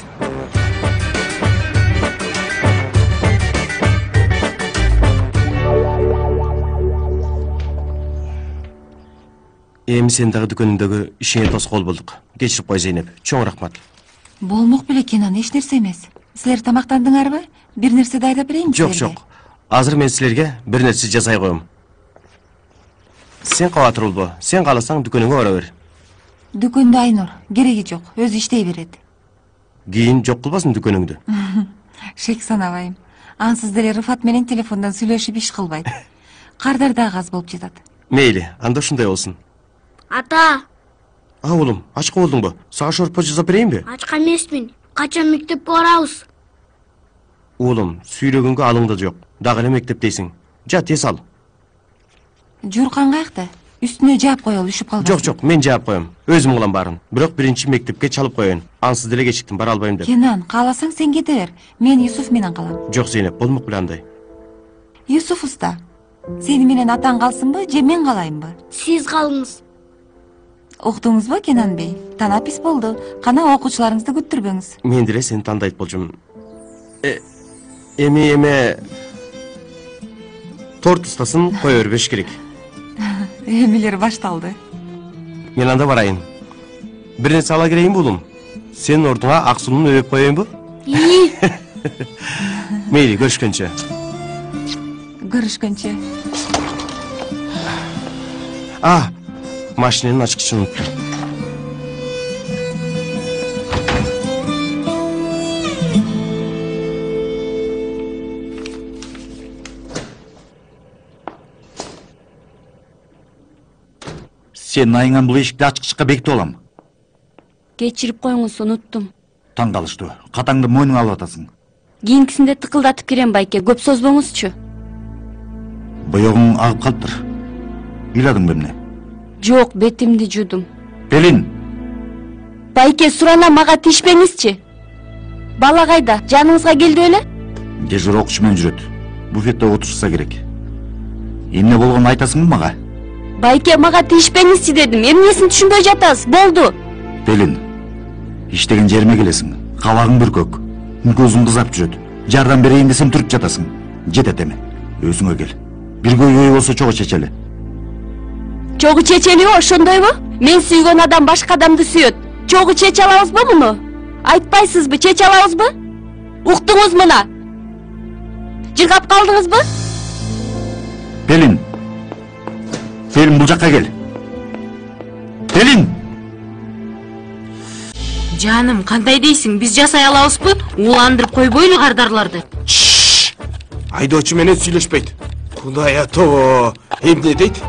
S2: Эми сен дагы дүкөнүңдөгү ишиңе тоскоол болдук. Кечирип кой, Зейнеп. Чоң рахмат.
S1: Болмок беле Кенан, эч нерсе эмес. Силер тамактандыңарбы? Бир нерсе дайдап берейинби
S2: Жок,
S1: силерге?
S2: жок. Азыр мен силерге бир нерсе жасай коем. Сен кабатыр болбо. Сен кааласаң дүкөнүңө бара бер.
S1: Дүкөндө Айнур, кереги жок, өзү иштей берет.
S2: Кийин жок кылбасын дүкөнүңдү.
S1: Шек санабайм. Ансыз деле Рыфат менен телефондон сүйлөшүп иш кылбайт. Кардар дагы аз болуп жатат.
S2: Мейли, анда ушундай болсун.
S12: Ата,
S2: Уулум, ачка болдуңбу? Сага шорпо жасап берейинби?
S12: ачка эмесмин. Качан мектепке барабыз?
S2: Уулум, сүйлөгөнгө алыңда жок. Дагы эле мектептейсиң. Жа, тез ал.
S1: Журкан каякта? Үстүнө жаап коелу, үшүп калбасын.
S2: Жок, жок, мен жаап коем. Өзүм кылам баарын. Бирок биринчи мектепке чалып коеюн. Ансыз деле кечиктим, бара албайм деп.
S1: Кенан, кааласаң сен кете бер. Мен Юсуф менен калам.
S2: Жок, Зейнеп, болмок беле андай.
S1: Юсуф уста, сени менен атаң калсынбы, же мен калайынбы?
S12: Сиз калыңыз.
S1: Уктуңузбу, Кенан бей? Танапис болду. Кана окуучуларыңызды күттүрбөңүз.
S2: Мен деле сени тандайт болчумун. Эми торт устасын кое бербеш керек.
S1: Эмилер башталды.
S2: Мен анда барайын. Бир нерсе ала кирейинби, уулум? Сенин ордуңа ак сууну өбөп коеюнбу? Мейли, көрүшкөнчө.
S1: Көрүшкөнчө.
S2: Машиненин ачкычын унуттум.
S11: Сен айыңан бул эшикти ачкычка бекитип алам.
S9: Кечирип коюңуз, унуттум.
S11: Таң калыштуу. Катаңды мойнуңа алып атасың.
S9: Кийинкисинде тыкылдатып кирем, байке, көп созбоңузчу.
S11: Боёгуң агып калыптыр. Ыйладыңбы эмне?
S9: Жок, бетимди жудум.
S11: Пелин.
S9: Байке, сурана мага тишпеңизчи. Бала кайда? Жаныңызга келди беле?
S11: Дежур окуучу менен жүрөт. Буфетте отурса керек. Эмне болгонун айтасыңбы мага?
S9: Байке, мага тишпеңизчи дедим. Эмнесин түшүнбөй жатасыз? Болду.
S11: Пелин. Иштеген жериме келесиң. Кабагың бүркөк. Көзүң кызарып жүрөт. Жардам берейин десем туруп жатасың. Жетет эми. Өзүңө кел. Бирге үй болсо чогуу чечели.
S9: Чогуу чечелиби, ошондойбу? Мен сүйгөн адам башка адамды сүйөт. Чогуу чече алабызбы муну? Айтпайсызбы, чече алабызбы? Уктуңуз мына. Жыргап калдыңызбы?
S11: Пелин. Пелин, бул жакка кел. Пелин.
S3: Жаным, кандай дейсиң? Биз жасай алабызбы? Уландырып койбойлу кардарларды.
S7: Айдоочу менен сүйлөшпөйт. Кудай ато, эмне дейт?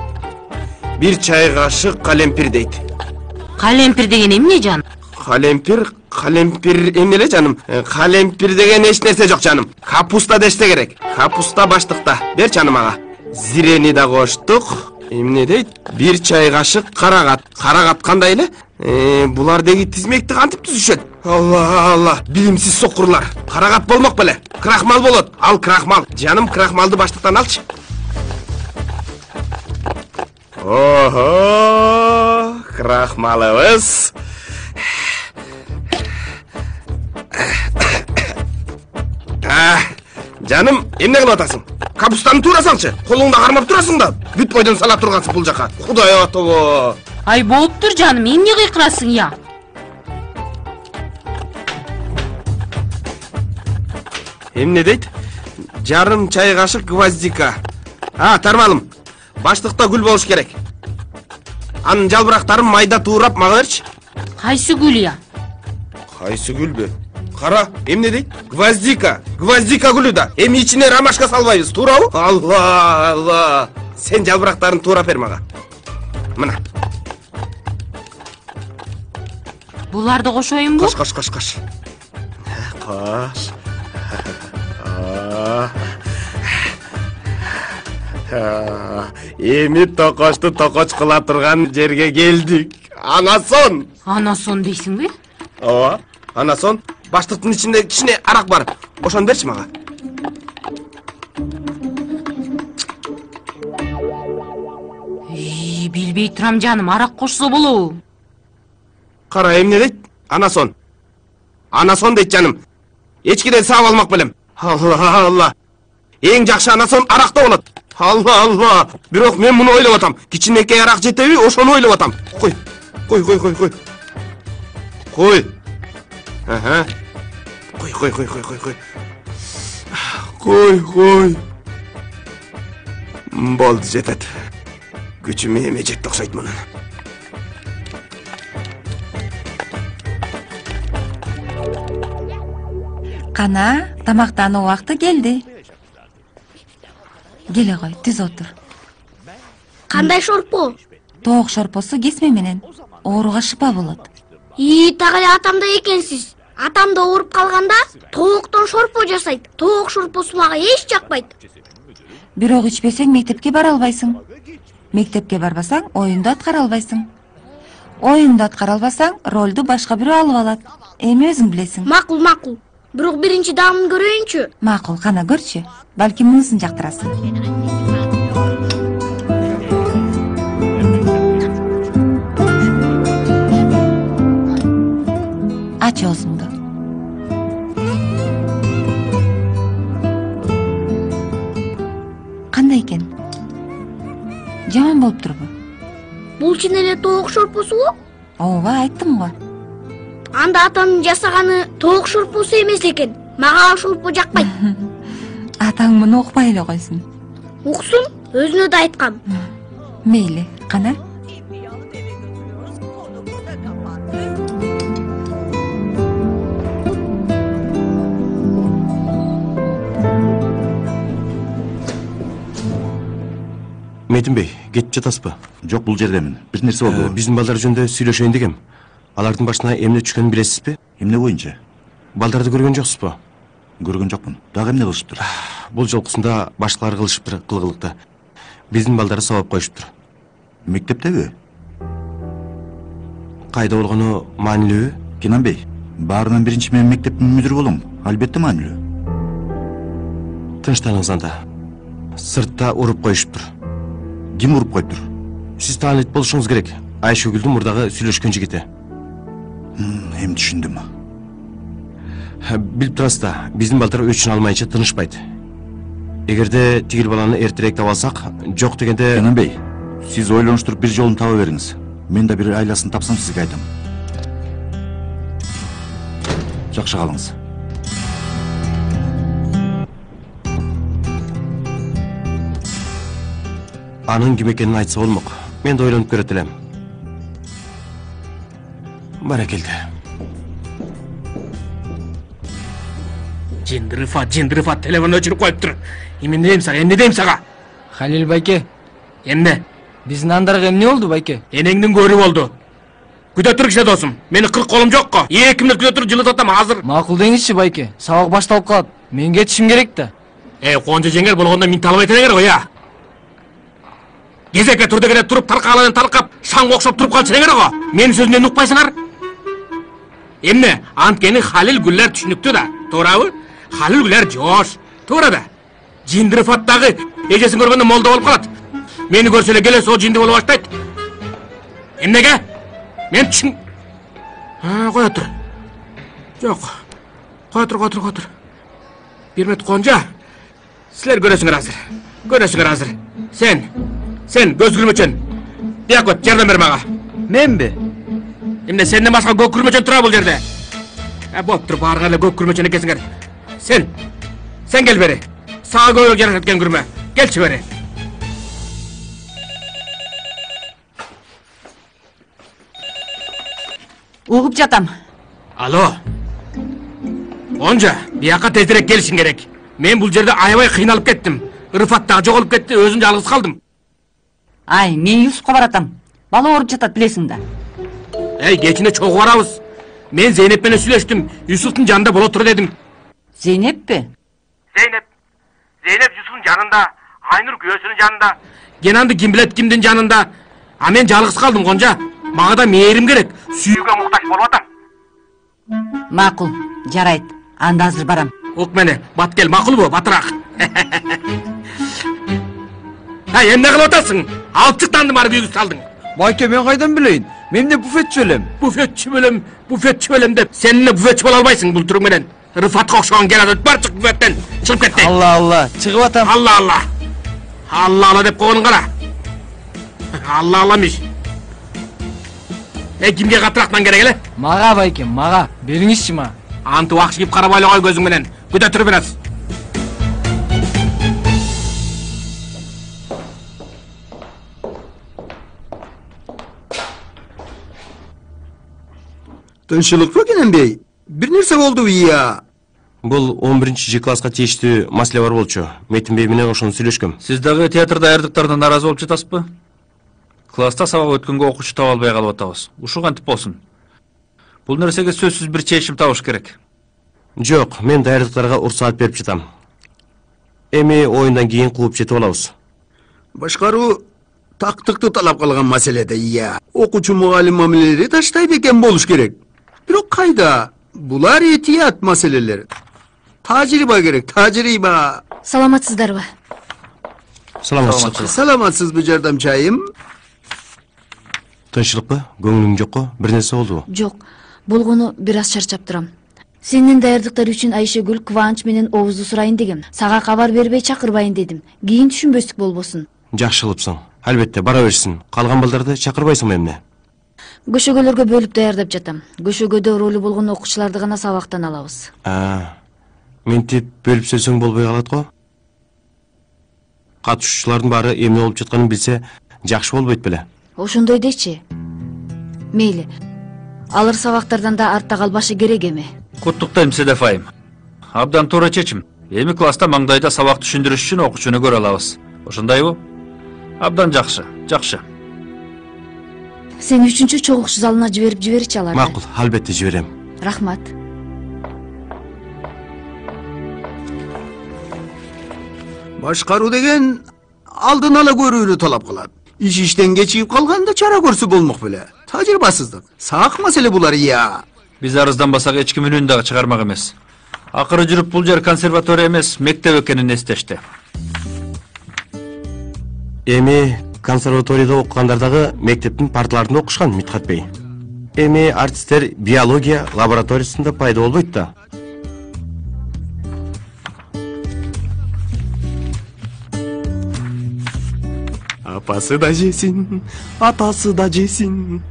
S7: Бир чай кашык калемпир дейт.
S3: Калемпир деген эмне, жаным?
S7: Калемпир эмне эле, жаным? Калемпир деген эч нерсе жок, жаным. Капуста дешсе керек. Капуста баштыкта. Бер жаным ага. Зирени да коштук. Эмне дейт? Бир чай кашык карагат. Карагат кандай эле? Булар деги тизмекти кантип түзүшөт? Алла, билимсиз сокурлар. Карагат болмок беле. Крахмал болот. Ал крахмал. Жаным, крахмалды баштыктан алчы. Ого, крахмалыбыз. Жаным, эмне кылып атасың? Капустаны туура салчы. Колуңда кармап турасың да. Бүт бойдон сала тургансың бул жака. Кудай ото.
S3: Ай, болуптур, жаным, эмне кыйкырасың я?
S7: Эмне дейт? Жарым чай кашык гвоздика. Тармалым. Баштыкта гүл болуш керек. Анын жалбырактарын майда туурап мага берчи.
S3: Кайсы гүл я?
S7: Кайсы гүлбү? Кара, эмне дейт? Гвоздика гүлү да. Эми ичине ромашка салбайбыз, туурабы? Алла. Сен жалбырактарын туурап бер мага. Мына.
S3: Буларды кошоюнбу?
S7: Кош. Кош. Эми токошту токоч кыла турган жерге келдик. Анасон.
S3: Анасон дейсиңби?
S7: Ооба, анасон. Баштыктын ичинде кичине арак бар. Ошону берчи мага.
S3: Билбей турам жаным, арак кошсо болобу?
S7: Кара, эмне дейт? Анасон. Анасон дейт жаным. Эчкиден саап алмак белем. Алла. Эң жакшы анасон аракта болот. Алла. Бирок мен муну ойлоп атам. Кичинекей арак жетеби, ошону ойлоп атам. Кой. Ага. Кой. Болду, жетет. Күчүм эме жетти окшойт мунун.
S4: Кана, тамактануу убакты келди. Келе кой, түз отур.
S12: Кандай шорпо?
S4: Тоок шорпосу кесме менен. Ооруга шыпа болот.
S12: Так эле атамда экенсиз. Атам да ооруп калганда тооктон шорпо жасайт. Тоок шорпосу мага эч жакпайт.
S4: Бирок ичпесең мектепке бара албайсың. Мектепке барбасаң, оюнду аткара албайсың. Оюнду аткара албасаң, ролду башка бирөө алып алат. Эми өзүң билесиң.
S12: Макул. Бирок биринчи даамын көрөйүнчү.
S4: Макул, кана көрчү. Балким мунусун жактырасың. Ач оозуңду. Кандай экен? Жаман болуп турбу?
S12: Бул чын эле тоок шорпосубу?
S4: Ооба, айттым го.
S12: Анда атамдын жасаганы тоок шорпосу эмес экен. Мага шорпо жакпайт.
S4: Атаң муну укпай эле койсун.
S12: Уксун, өзүнө да айткам.
S4: Мейли, кана.
S2: Метинбей, кетип жатасызбы?
S11: Жок, бул жердемин. Бир нерсе болду.
S2: Биздин балдар жөнүндө сүйлөшөйүн дегем. Алардын башына эмне түшкөнүн билесизби?
S11: Эмне боюнча?
S2: Балдарды көргөн жоксузбу?
S11: Көргөн жокмун. Дагы эмне кылышыптыр?
S2: Бул жолкусунда башкалар кылышыптыр кылгылыкта. Биздин балдары сабап коюшуптур.
S11: Мектептеби?
S2: Кайда болгону маанилүүбү?
S11: Кенанбей, баарынан биринчи мен мектептин мүдүрү болом. Албетте маанилүү.
S2: Тынчтаныгыз анда. Сыртта уруп коюшуптур.
S11: Ким уруп коюптур?
S2: Сиз таанит болушуңуз керек. Айшөгүлдүн мурдагы сүйлөшкөн жигити.
S11: Эми түшүндүм.
S2: Билип турасыз да, биздин балдар өчүн алмайынча тынышпайт. Эгерде тигил баланы эртерээк таба алсак, жок дегенде...
S11: Кенанбей, сиз ойлонуштуруп бир жолун таба бериңиз. Мен да бир айласын тапсам сизге айтам. Жакшы калыңыз.
S2: Анын ким экенин айтса болмок. Мен да ойлонуп көрөт элем. Баракелде.
S5: Жиндырыфа, телефон өчүрүп коюптур. Эмне дейм сага?
S18: Халил байке,
S5: Эмне?
S18: биздин андарга эмне болду байке?
S5: Энеңдин көрү болду. Күтө тур кичине досум. Мени 40 колум жокко. 2 мүнөт күтө тур, жылытып атам азыр.
S18: Макул деңизчи байке, сабак башталып калат. Мен кетишим керек да.
S5: Конжо жеңер болгондо мен талап этелеңер го, я. Кезекке тур дегенде туруп таркаланын таркап, шаңга окшоп туруп калчу дегенер го. Менин сөзүмдөн укпайсыңар? Эмне? Анткени Халил Гүллер түшүнүктүү да, туурабы? Халил Гүллер жош, туура да. Жиндирифаттагы эжесин көргөндө молдо болуп калат. Мени көрсө эле келе сол жинди болуп баштайт. Эмнеге? Мен түшүн... Кое тур. Жок. Кое тур. Бир минут Конжа. Силер көрөсүңөр азыр. Сен көз күрмөчөн. Бияк өт, жардам бер мага.
S18: Менби?
S5: Эмне сенден башка көк күрмөчөн тура бул жерде? Болуптур, баарыңар эле көк күрмөчөн экенсиңер. Сен кел бери. Сага көбүрөөк жарашат экен күрмө. Келчи бери.
S1: Угуп жатам.
S5: Алло. Онжа, бияка тезирээк келишиң керек. Мен бул жерде аябай кыйналып кеттим. Рыфат дагы жоголуп кетти, өзүм жалгыз калдым.
S1: Ай, мен Юсупка баратам. Бала ооруп жатат, билесиң да.
S5: Кечине чогуу барабыз. Мен Зейнеп менен сүйлөштүм. Юсуптун жанында боло тур дедим.
S1: Зейнеппи?
S5: Зейнеп Юсуптун жанында Айнур күйөөсүнүн жанында. Кенанды ким билет кимдин жанында. А мен жалгыз калдым Гонжа. Мага да мээрим керек. Сүйүүгө муктаж болуп атам.
S1: Макул, жарайт. Анда азыр барам.
S5: Ок мени, бат кел, макулбу, батыраак. Ай, эмне кылып атасың? Алып чыктандым ары күйгүз салдың.
S8: Байке, мен кайдан билейин? Мен эмне буфетчи белем?
S5: Буфетчи белем деп. Сен эмне буфетчи боло албайсың бул түрүң менен. Рыфатка окшогон келат, бар чык буфеттен. Чыгып кетти.
S8: Алла, чыгып атам.
S5: Алла деп койгонун кара. Алламыш. Кимге катырактан керек эле?
S18: Мага байке, мага. Бериңизчи мага.
S5: Антып акшигип карабай эле кой көзүң менен. Күтө туруп бересиз.
S7: Тынчылыкпы Кененбей? Бир нерсе болду ия.
S2: Бул 11-Ж класска тийиштүү маселе бар болчу. Метинбей менен ошону сүйлөшкөм.
S15: Сиз дагы театр даярдыктарынан наразы болуп жатасызбы? Класста сабак өткөнгө окуучу таба албай калып атабыз. Ушул кантип болсун? Бул нерсеге сөзсүз бир чечим табыш керек.
S2: Жок, мен даярдыктарга уруксаат берип жатам. Эми оюндан кийин кууп жетип алабыз.
S7: Башкаруу тактыкты талап кылган маселеде ия. Окуучу мугалим мамилелери таштай бекен болуш керек. Бирок кайда? Булар этият маселелер. Тажрыйба керек, тажрыйба.
S17: Саламатсыздарбы?
S7: Саламатсызбы жардамчайым?
S2: Тынчылыкпы? Көңүлүң жокко? Бир нерсе болдубу?
S17: Жок, болгону бир аз чарчап турам. Сенин даярдыктар үчүн Айшегүл Кубанч менен Оозду сурайын дегем. Сага кабар бербей чакырбайын дедим. Кийин түшүнбөстүк болбосун.
S2: Жакшы кылыпсың. Албетте, бара берсин. Калган балдарды чакырбайсыңбы эмне?
S17: Көшөгөлөргө бөлүп даярдап жатам. Көшөгөдө ролу болгон окуучуларды гана сабактан алабыз.
S2: Ментип бөлүп сөзсөң болбой калат го. Катышуучулардын баары эмне болуп жатканын билсе, жакшы болбойт беле?
S17: Ошондой дечи. Мейли. Алар сабактардан да артта калбашы керек эми.
S15: Куттуктайм Седеф айым. Абдан туура чечим. Эми класста маңдайда сабак түшүндүрүш үчүн окуучуну көрө алабыз. Ошондойбу? Абдан жакшы, жакшы.
S17: Сен 3-чү чогуу залына жиберичи аларды.
S2: Макул, албетте жиберем.
S17: Рахмат.
S7: Башкаруу деген алдын ала көрүүнү талап кылат. Иштен кечигип калганда чара көрсө болмок беле. Тажрыйбасыздык. Сак маселе булар ия.
S15: Биз арызданбасак эч ким үнүн дагы чыгармак эмес. Акыры жүрүп бул жер консерватория эмес, мектеп экенин эстешти.
S2: Эми консерваторияда окугандар дагы мектептин парталарында окушкан, Митхат бей. Эми артисттер биология лабораториясында пайда болбойт да. Апасы да жесин, атасы да жесин.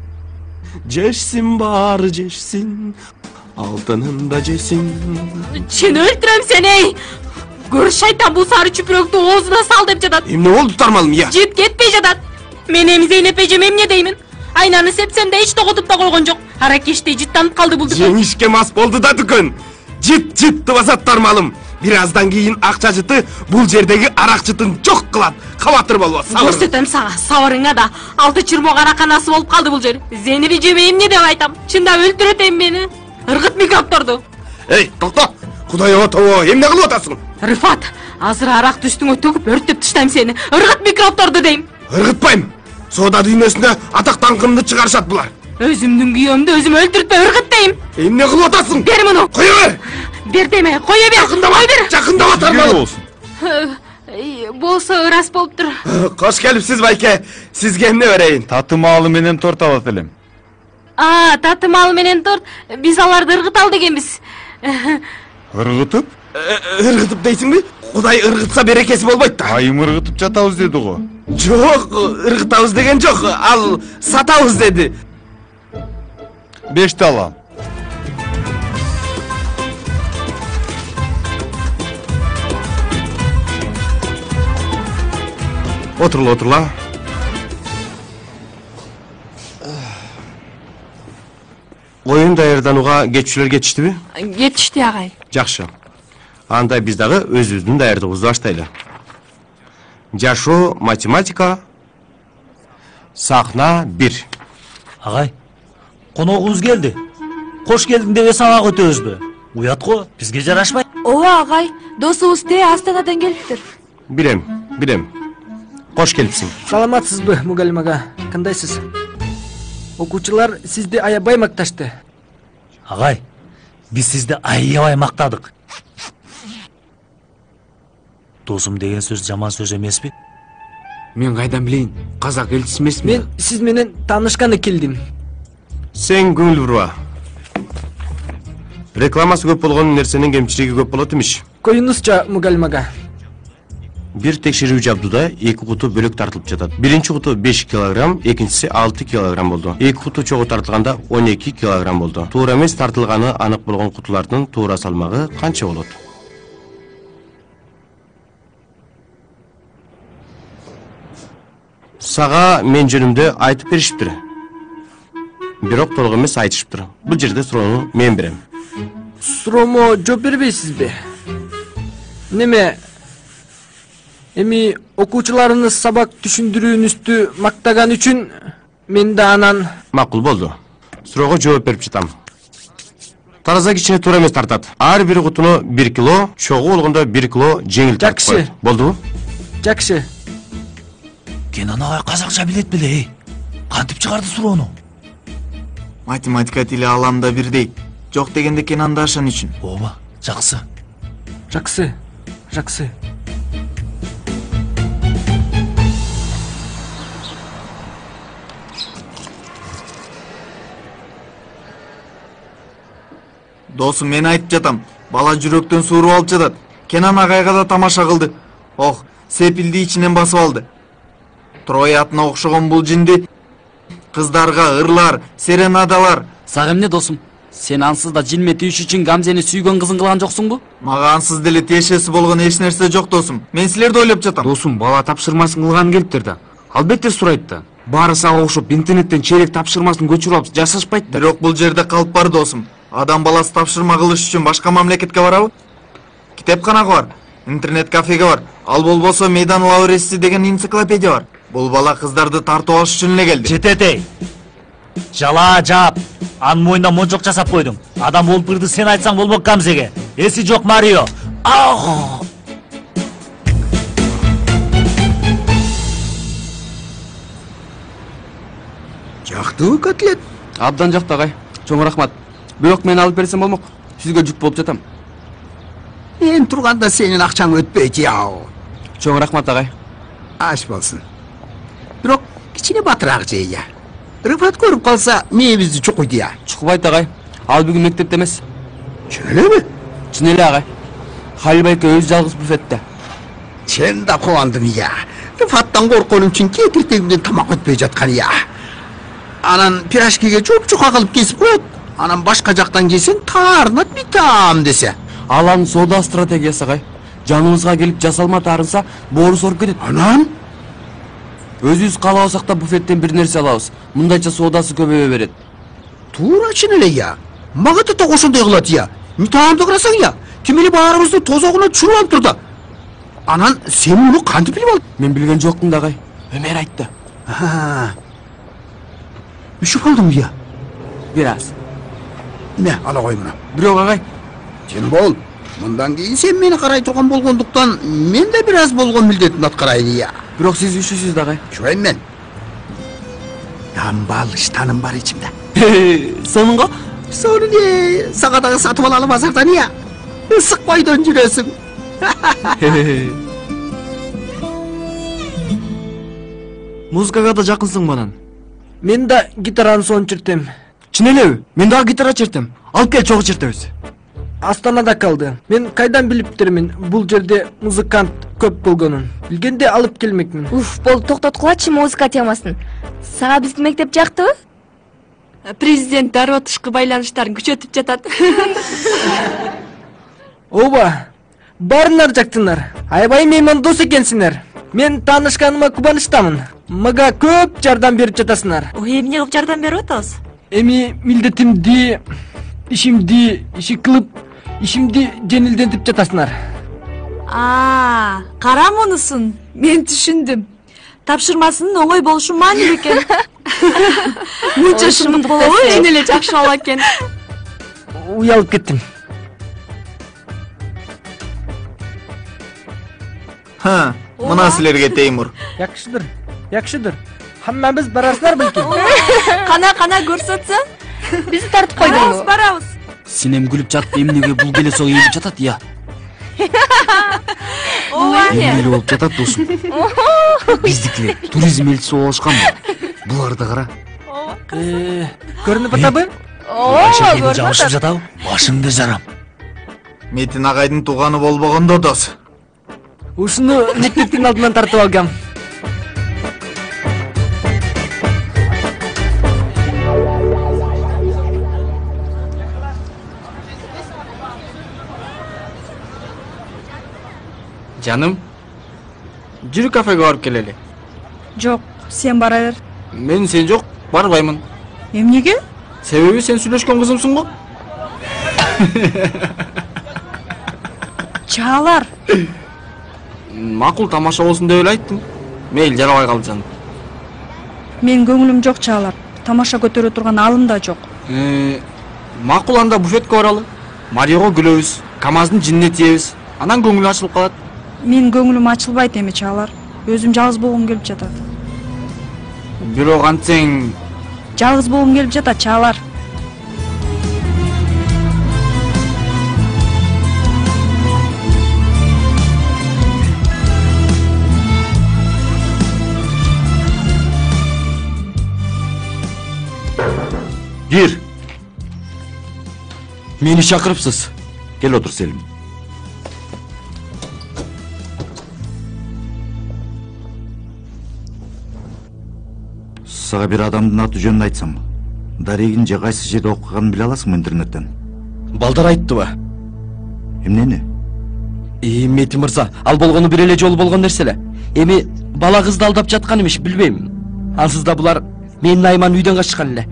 S2: Жешсин баары жешсин, алтынын да жесин.
S3: Сени өлтүрөм сени. Көр шайтан бул сары чүпүрөктү оозуна сал деп жатат.
S7: Эмне болду Тармалым я?
S3: Жит кетпей жатат. Мен эми Зейнеп эжем эмне деймин? Айнаны сепсем да эч тоготуп да койгон жок. Аракештей жыттанып калды бул дүкөн.
S7: Жеңишке мас болду да дүкөн. Жит басат Тармалым. Бир аздан кийин акча жыты бул жердеги арак жытын жок кылат. Кабатыр болбос.
S3: Көрсөтөм сага, сабырыңа да. 6 чырмок араканасы болуп калды бул жер. Зейнеп эжеме эмне деп айтам? Чындап өлтүрөт эми мени. Ыргыт микробторду.
S7: Эй, токто. Кудай отобо, эмне кылып атасың?
S3: Рыфат, азыр аракты үстүңө төгүп өрттөп таштайм сени. Ыргыт микробторду дейм.
S7: Иргытпайм. Соода дүйнөсүндө атак даңкымды чыгарышат булар.
S3: Өзүмдүн күйөөмдү өзүм өлтүртпөй ыргыт дейм.
S7: Эмне кылып атасың?
S3: Бер муну.
S7: Кое бер.
S3: Бер деме, кое бер.
S7: Жакындама Тармалым.
S3: Болсо ырас болуптур.
S7: Кош келипсиз байке. Сизге эмне берейин?
S11: Татымалы менен торт алат элем.
S3: Татымал менен торт. Биз аларды ыргыталы дегенбиз.
S11: Ыргытып?
S7: Ыргытып дейсиңби? Кудай ыргытса берекеси болбойт да.
S11: Айым ыргытып жатабыз деди го.
S7: Жок, ыргытабыз деген жок. Ал сатабыз деди.
S11: 5 алам.
S2: Отурла. Оюн даярданууга кетчүлөр кетиштиби?
S3: Кетишти агай.
S2: Жакшы. Анда биз дагы өзүбүздүн даярдыгыбызды баштайлы. Жашоо, математика, сахна 1.
S6: Агай, коногубуз келди. Кош келдиң деп сабак өтөбүзбү? Уят го, бизге жарашпайт.
S19: Ооба агай, досубуз Астанадан келиптир.
S2: Билем, Билем. Кош келипсиң.
S18: Саламатсызбы, мугалим ага? Кандайсыз? Окуучулар сизди аябай макташты.
S6: Агай, биз сизди аябай мактадык. Досум деген сөз жаман сөз эмеспи?
S10: Мен кайдан билейин? Казак элчиси эмесмин.
S18: Мен сиз менен таанышканы келдим.
S2: Сен көңүл бурба. Рекламасы көп болгон нерсенин кемчилиги көп болот имиш.
S18: Коюңузча, мугалим ага.
S2: Бир текшерүү жабдуда 2 куту бөлөк тартылып жатат. Биринчи куту 5 килограмм, экинчиси 6 килограмм болду. 2 куту чогуу тартылганда 12 килограмм болду. Туура эмес тартылганы анык болгон кутулардын туура салмагы канча болот? Сага мен жөнүмдө айтып беришиптир. Бирок толук эмес айтышыптыр. Бул жерде суроону мен берем.
S18: Суроомо жооп бербейсизби? Неме? Эми окуучуларыңыз сабак түшүндүрүүңүздү мактаган үчүн мен да анан...
S2: Макул болду. Суроого жооп берип жатам. Тараза кичине туура эмес тартат. Ар бир кутуну 1 кило, чогуу болгондо 1 кило жеңил тартып коет. Болдубу?
S18: Жакшы.
S6: Кенан агай казакча билет беле? Кантип чыгарды суроону?
S8: Математика тили аламда бирдей. Жок дегенде Кенанда ашан үчүн.
S6: Ооба, жакшы.
S18: Жакшы. Жакшы.
S8: Досум, мен айтып жатам. Бала жүрөктөн сууруп алып жатат. Кенан агайга да тамаша кылды. Ох, сепилди ичинен басып алды. Троя атына окшогон бул жинди кыздарга ырлар, серенадалар.
S14: Сага эмне досум? Сен ансыз да жинме тийиш үчүн Гамзени сүйгөн кызын кылган жоксуңбу?
S8: Мага ансыз деле тиешеси болгон эч нерсе жок досум. Мен силерди ойлоп жатам.
S10: Досум, бала тапшырмасын кылган келиптир да. Албетте сурайт да. Баары сага окшоп интернеттен чейлек тапшырмасын көчүрүп алып жасашпайт да.
S8: Бирок бул жерде калып бар досум. Адам баласы тапшырма кылыш үчүн башка мамлекетке барабы? Китепканага бар, интернет кафеге бар. Ал болбосо Мейдан Лауреси деген энциклопедия бар. Бул бала кыздарды тартып алыш үчүн эле келди.
S6: Жететей. Жала жап. Анын мойнуна монжок жасап койдуң. Адам болуп кырды сен айтсаң болбок Гамзеге. Эси жок Марио.
S20: Жактыбы котлет?
S14: Абдан жакты агай. Чоң рахмат. Бирок мен алып берсем болмок. Сизге жүк болуп жатам.
S20: Мен турганда сенин акчаң өтпөйт яу.
S14: Чоң рахмат агай.
S20: Аш болсун. Бирок кичине батыраак жей я. Рыфат көрүп калса, мээбизди чукуйт я.
S14: Чукубайт агай. Ал бүгүн мектепте эмес.
S20: Чын элеби?
S14: Чын эле агай. Халил байке өзү жалгыз буфетте.
S20: Чын да кубандым я. Рыфаттан корконум үчүн кетиртегимден тамак өтпөй жаткан я. Анан пирожкиге чоп-чука кылып кесип коет. Анан башка жактан келсең таарынат битам десе.
S14: Аланын соода стратегиясы агай. Жаныбызга келип жасалма таарынса, боору соруп кетет.
S20: Анан
S14: өзүбүз каалабасак да буфеттен бир нерсе алабыз. Мындайча соодасы көбөйө берет.
S20: Туура чын эле я. Мага да ошондой кылат я. Таамды карасаң я, тим эле баарыбызды тозогуна түшүрүп алып турду. Анан сен муну кантип билип алдың?
S14: Мен билген жокмун да агай. Өмөр айтты.
S20: Үшүп алдыңбы я?
S14: Бир аз.
S20: Не, ала кой муну.
S14: Бирок агай.
S20: Сен бол. Мындан кийин сен мени карай турган болгондуктан, мен да бир аз болгон милдетимди аткарайын я.
S14: Бирок сиз үшүсүз да агай.
S20: Чоен мен. Дамбал ыштаным бар ичимде.
S14: Сонунго?
S20: Сону не, сага дагы сатып алалы базардан я. Ысык бойдон жүрөсүң.
S14: Музыкага да жакынсың анан.
S18: Мен да гитараны сонун чертем.
S14: Чын элеби? Мен дагы гитара чертем. Алып кел чогуу чертебиз.
S18: Астанада калды. Мен кайдан билиптермин бул жерде музыкант көп болгонун. Билгенде алып келмекмин.
S9: Уф, болду, токтоткулачы музыка темасын. Сага биздин мектеп жактыбы?
S19: Президент дароо тышкы байланыштарын күчөтүп жатат.
S18: Ооба, баарыңар жактыңар. Аябай меймандос экенсиңер. Мен таанышканыма кубанычтамын. Мага көп жардам берип жатасыңар.
S13: Эмне кылып жардам берип атабыз?
S18: Эми милдетимди, ишимди кылып, ишимди жеңилдетип жатасыңар.
S13: Кара мунусун. Мен түшүндүм. Тапшырмасынын оңой болушу маанилүү экен.
S19: Мынча шымдык болобу, эне эле жакшы бала экен.
S18: Уялып кеттим.
S8: Мына силерге Теймур.
S18: Жакшыдыр. Хаммабыз барасыздар белким.
S9: Кана көрсөтсөң. Бизди тартып койдуңбу?
S14: Барабыз. Синем күлүп жатып эмнеге бул келесок ийилип жатат, я? Эмнеле болуп жатат досум? Биздикилер туризм элчиси болушканбы? Буларды кара.
S18: Көрүнүп атабы?
S6: Ооба, жабышып жатабы? Башыңды жарам.
S8: Метин агайдын тууганы болбогондо дос.
S18: Ушуну мектептин алдынан тартып алгам.
S16: Жаным, жүрү кафеге барып келели.
S4: Жок, сен бара бер.
S16: Мен сен жок, барбаймын.
S4: Эмнеге?
S16: Себеби сен сүйлөшкөн кызымсың го.
S4: Чаалар.
S16: Макул тамаша болсун деп эле айттым. Мейли, жарабай калды жаным.
S4: Мен көңүлүм жок Чаалар. Тамаша көтөрө турган алым да жок.
S16: Макул, анда буфетке баралы. Мариого күлөбүз, КамАЗдын жинине тиебиз. Анан көңүлү ачылып калат.
S4: Мен көңүлүм ачылбайт эми Чаалар. Өзүм жалгыз болгум келип жатат.
S16: Бирок антсең...
S4: Жалгыз болгум келип жатат Чаалар.
S11: Кир. Мени чакырыпсыз. Кел отур, Селим. Сага бир адамдын аты жөнүн айтсам, Дарегин же кайсы жерде окуганын биле аласыңбы интернеттен?
S7: Балдар айттыбы?
S11: Эмнени?
S7: Метин мырза, ал болгону бир эле жолу болгон нерсе эле. Эми бала кызды алдап жаткан эмиш, билбейм. Ансыз да булар менин Найман үйдөн качкан эле.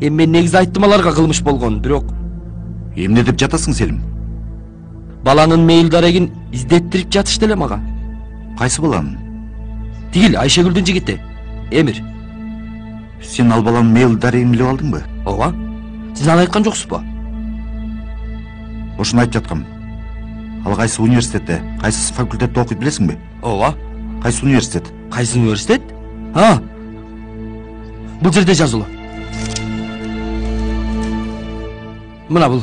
S7: Эми мен негизи айттым аларга кылмыш болгон, бирок...
S11: Эмне деп жатасың, Селим?
S7: Баланын Мейил Дарегин издеттирип жатышты эле мага.
S11: Кайсы баланын?
S7: Тигил, Айшегүлдүн жигити, Эмир.
S11: Сен ал баланын Мейил Дарегин билип алдыңбы?
S7: Ооба. Сиз аны айткан жоксузбу?
S11: Ошону айтып жаткам. Ал кайсы университетте, кайсы факультетте окуйт билесиңби?
S7: Ооба.
S11: Кайсы университет?
S7: Кайсы университет? Бул жерде жазылуу. Мына бул.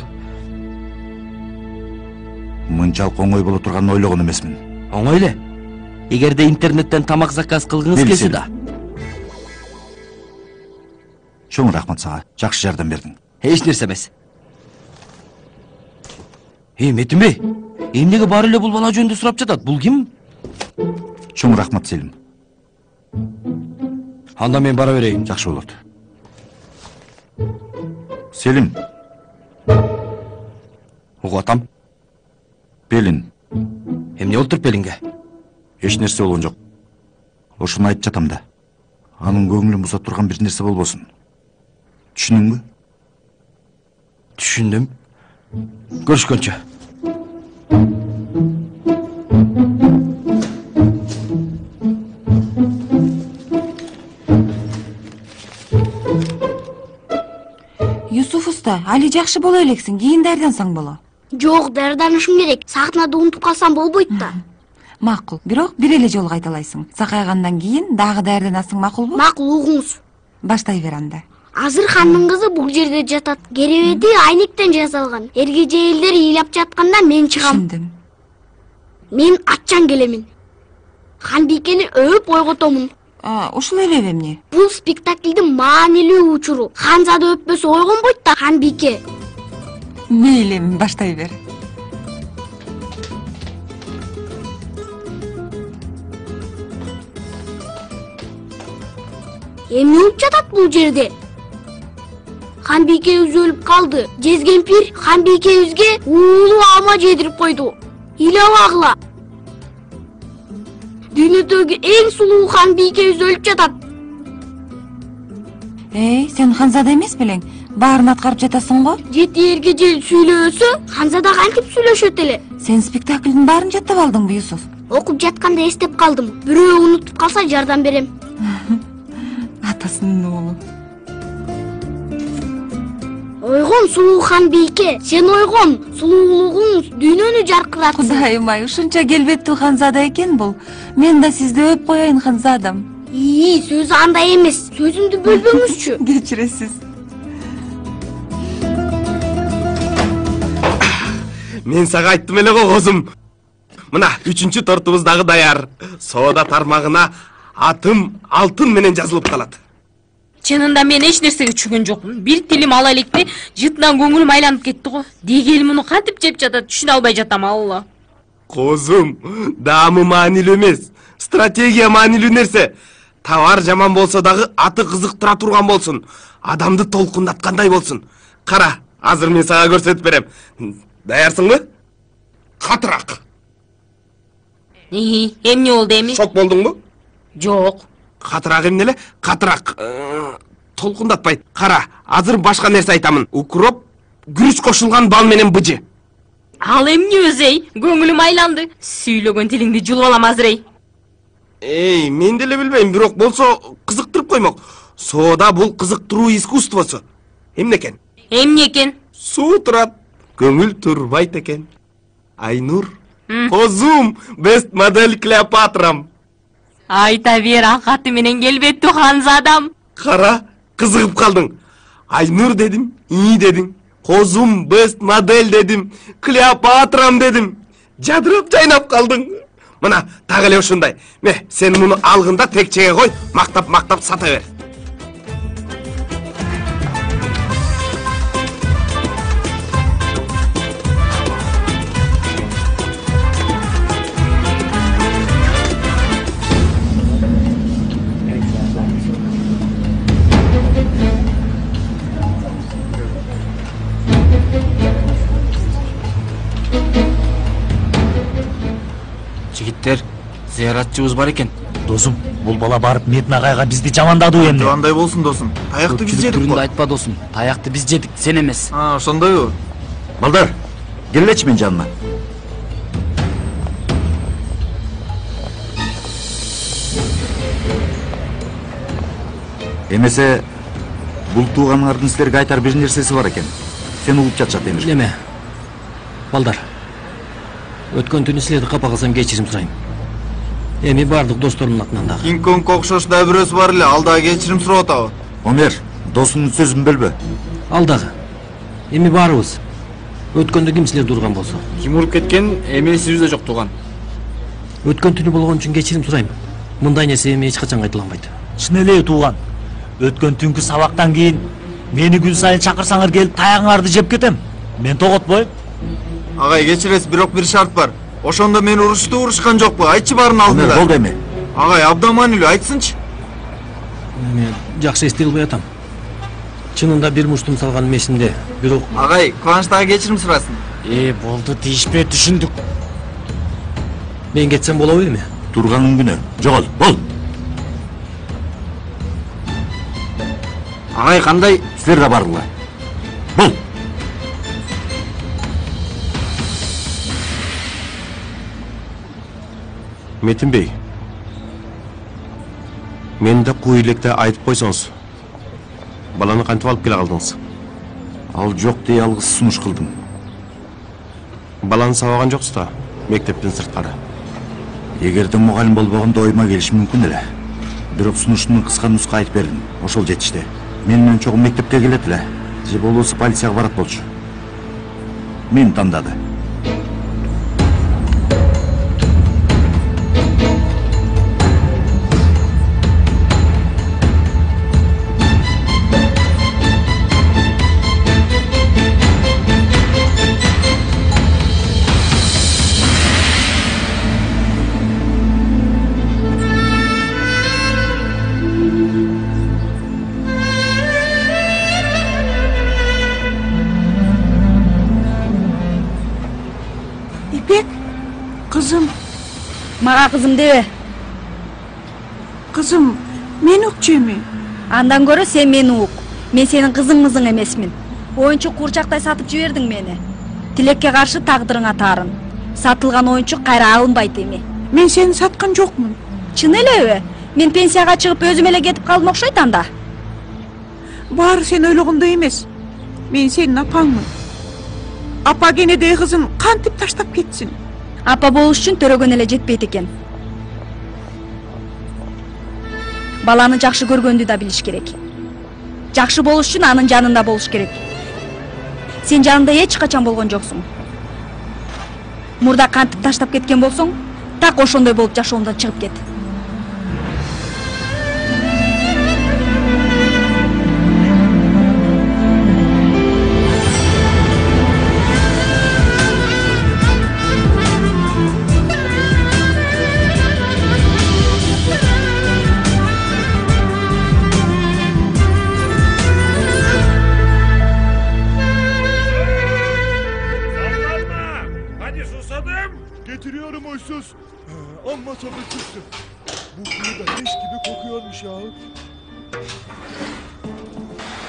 S11: Мынчалык оңой боло турганын ойлогон эмесмин.
S7: Оңой эле. Эгерде интернеттен тамак заказ кылгыңыз келсе да.
S11: Чоң рахмат сага. Жакшы жардам бердиң.
S7: Эч нерсе эмес. Метинбей, эмнеге баары эле бул бала жөнүндө сурап жатат? Бул ким?
S11: Чоң рахмат, Селим.
S7: Анда мен бара берейин.
S11: Жакшы болот. Селим.
S7: Угуп атам.
S11: Белин.
S7: Эмне болуптур Белинге?
S11: Эч нерсе болгон жок. Ошону айтып жатам да. Анын көңүлүн буза турган бир нерсе болбосун. Түшүндүңбү?
S7: Түшүндүм. Көрүшкөнчө.
S13: Юсуф уста, али жакшы боло элексиң, кийин даярдансаң боло.
S12: Жок, даярданышым керек. Сахнада унутуп калсам болбойт да.
S13: Макул, бирок бир эле жолу кайталайсың. Сакайгандан кийин дагы даярданасың, макулбу?
S12: Макул, угуңуз.
S13: Баштай бер анда.
S12: Азырхандын кызы бул жерде жатат. Керебети айнектен жасалган. Эргежейлдер ыйлап жатканда мен чыгам.
S13: Түшүндүм.
S12: Мен атчан келемин. Ханбикени өп ойготомун.
S13: Ушул эле эмне?
S12: Бул спектаклдин маанилүү учуру. Ханзада өппөсө ойгонбойт да Ханбике.
S13: Мейли, баштай бер.
S12: Эмне болуп жатат бул жерде? Ханбикебиз өлүп калды. Жезкемпир Ханбикебизге уулуу алма жедирип койду. Ыйлабагыла. Дүйнөдөгү эң сулуу Ханбикебиз өлүп жатат.
S13: Сен Ханзада эмес белең? Баарын аткарып жатасың го?
S12: Жети эргежел сүйлөсө, Ханзада кантип сүйлөшөт эле?
S13: Сен спектаклдин баарын жаттап алдыңбы, Юсуф?
S12: Окуп жатканда эстеп калдым. Бирөө унутуп калса жардам берем.
S13: Атасынын уулу.
S12: Ойгон Сулуухан бийке, сен ойгон сулуулугуңуз дүйнөнү жаркыратсын.
S13: Кудайым ай, ушунча келбеттүү ханзада экен бул. Мен да сизди өп коеюн ханзадам.
S12: Сөзү андай эмес. Сөзүмдү бөлбөңүзчү.
S13: Кечиресиз.
S7: Мен сага айттым эле го козум. Мына 3-чү тортубуз дагы даяр. Соода тармагына атым алтын менен жазылып калат.
S3: Чынында мен эч нерсеге түшүнгөн жокмун. Бир тилим ала электе жытынан көңүлүм айланып кетти го. Дегели муну кантип жеп жатат, түшүнө албай жатам, алла.
S7: Козум, даамы маанилүү эмес. Стратегия маанилүү нерсе. Товар жаман болсо дагы аты кызыктыра турган болсун. Адамды толкундаткандай болсун. Кара, азыр мен сага көрсөтүп берем. Даярсыңбы? Катыраак.
S3: Эмне болду эми?
S7: Шок болдуңбу?
S3: Жок.
S7: Катыраак эмне эле? Катыраак. Толкундатпайт. Кара, азыр башка нерсе айтамын. Укроп, күрүч кошулган бал менен быжы.
S3: Ал эмне өзөй? Көңүлүм айланды. Сүйлөгөн тилиңди жулуп алам азыр эй.
S7: Мен деле билбейм, бирок болсо кызыктырып коймок. Соода бул кызыктыруу искусствосу. Эмне экен?
S3: Эмне экен?
S7: Суу турат, көңүл турбайт экен. Айнур, козум, бест модель Клеопатрам.
S3: Айта бер, акаты менен келбеттүү ханзадам.
S7: Кара, кызыгып калдың. Айнур дедим, дедиң. Козум, бест модель дедим. Клеопатрам дедим. Жадырап жайнап калдың. Мына, так эле ушундай. Сен муну алгында текчеге кой, мактап сата бер.
S5: Жигиттер, зыяратчыбыз бар экен.
S6: Досум, бул бала барып Метин агайга бизди жамандады эмне?
S8: Андай болсун досум. Таякты биз жедик го.
S14: Айтпа досум. Таякты биз жедик, сен эмес.
S8: Ошондойбу?
S11: Балдар, келечи мен жаныма. Эмесе, бул тууганыңардын силерге айтар бир нерсеси бар экен. Сен угуп жатышат Эмир.
S5: Эме. Балдар. Өткөн түнү силерди капа кылсам кечирим сурайм. Эми бардык досторумдун атынан дагы.
S8: Кинг-Конг окшош да бирөөсү бар эле, ал дагы кечирим сурап атабы?
S11: Омер, досуңдун сөзүн бөлбө.
S5: Ал дагы. Эми баарыбыз. Өткөндө ким силерди урган болсо?
S16: Ким уруп кеткен, эми эсибизде жок тууган.
S5: Өткөн түнү болгон үчүн кечирим сурайм. Мындай нерсе эми эч качан кайталанбайт.
S6: Чын эле тууган. Өткөн түнкү сабактан кийин мени күн сайын чакырсаңар келип таягыңарды жеп кетем. Мен тоготпойм.
S8: Агай, кечиресиз, бирок бир шарт бар. Ошондо мен урушкан жокпу? Айтчы баарын алдында.
S11: Болду эми.
S8: Агай, абдан маанилүү, айтсынчы.
S5: Мен жакшы эстей албай атам. Чынында бир муштум салган эсимде, бирок
S8: Агай, Кубаныч дагы кечирим сурасын.
S5: Болду, тийишпей түшүндүк. Мен кетсем болобу эми?
S11: Турганын күнү. Жогол, бол.
S16: Агай, кандай?
S11: Силер да баргыла. Бол.
S2: Метин бей. Мен да куу электе айтып койсоңуз. Баланы кантип алып келе калдыңыз?
S11: Ал жок дей алгыс сунуш кылдым.
S2: Баланы сабаган жоксуз да, мектептен сырткары.
S11: Эгерде мугалим болбогондо ойма келиши мүмкүн эле. Бирок сунуштун кыска нуска айтып бердим. Ошол жетишти. Мен менен чогуу мектепке келет эле. Же болбосо полицияга барат болчу. Мени тандады.
S4: Кызым.
S17: Мага кызым дебе.
S4: Кызым, мен укчу эми.
S17: Андан көрө сен мени ук. Мен сенин кызыңмызың эмесмин. Оюнчук курчактай сатып жибердиң мени. Тилекке каршы тагдырыңа таарын. Сатылган оюнчук кайра алынбайт эми.
S4: Мен сени саткан жокмун.
S17: Чын элеби? Мен пенсияга чыгып өзүм эле кетип калдым окшойт анда.
S4: Баары сен ойлогондой эмес.
S21: Мен сенин апаңмын. Апа кенедей кызын кантип таштап кетсин?
S17: Апа болуш үчүн төрөгөн эле жетпейт экен. Баланы жакшы көргөндү да билиш керек. Жакшы болуш үчүн анын жанында болуш керек. Сен жанында эч качан болгон жоксуң. Мурда кантип таштап кеткен болсоң, так ошондой болуп жашоомдон чыгып кет.
S22: Getiriyorum huysuz. Amma tadı çıktı. Bu kuyu da leş gibi kokuyormuş ya.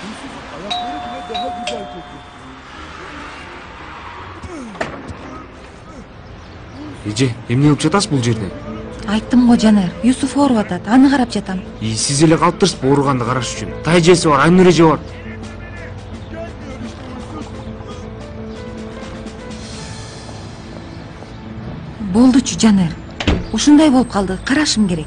S22: Huysuzun ayakları bile daha güzel kokuyor.
S10: Эже, эмне кылып жатасыз бул жерде?
S1: Айттым го Жанар, Юсуф ооруп атат, аны карап жатам.
S10: Сиз эле калып турсуз ооруганды караш үчүн. Тай эжеси бар, Айнур эже бар.
S1: Болдучу Жанар. Ушундай болуп калды, карашым керек.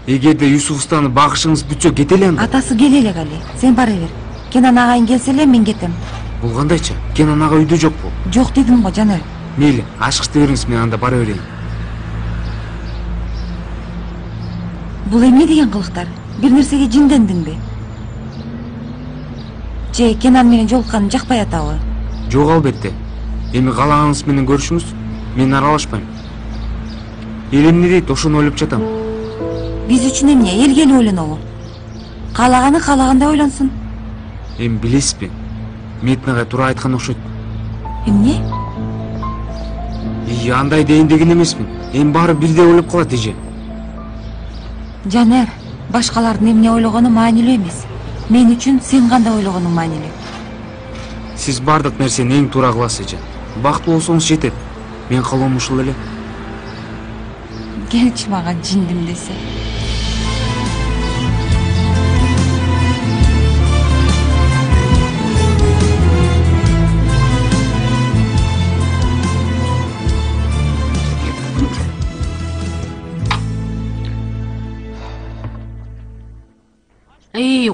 S10: Эгерде Юсуф устаны багышыңыз бүтсө кете эле анда.
S1: Атасы келе эле Гали. Сен бара бер. Кенан агайың келсе эле мен кетем.
S10: Бул кандайча? Кенан ага үйдө жокпу?
S1: Жок дедим го Жанар.
S10: Мейли, ашкычты бериңиз, мен анда бара берейин.
S1: Бул эмне деген кылыктар? Бир нерсеге жиндендиңби? Же Кенан менен жолукканым жакпай атабы?
S10: Жок, албетте. Эми каалаганыңыз менен көрүшүңүз, мен аралашпайм. Эл эмне дейт, ошону ойлоп жатам.
S1: Биз үчүн эмне, элге эле ойлонобу? Каалаганы каалагандай ойлонсун.
S10: Эми билесизби? Мейтин агай туура айткан окшойт.
S1: Эмне?
S10: Андай дейин деген эмесмин. Эми баары бирдей ойлоп калат эже.
S1: Жанар, башкалардын эмне ойлогону маанилүү эмес. Мен үчүн сен кандай ойлогонуң маанилүү.
S10: Сиз бардык нерсени эң туура кыласыз эже. Бактылуу болсоңуз жетет. Мен калоом ушул эле.
S1: Келчи мага жиндим десе.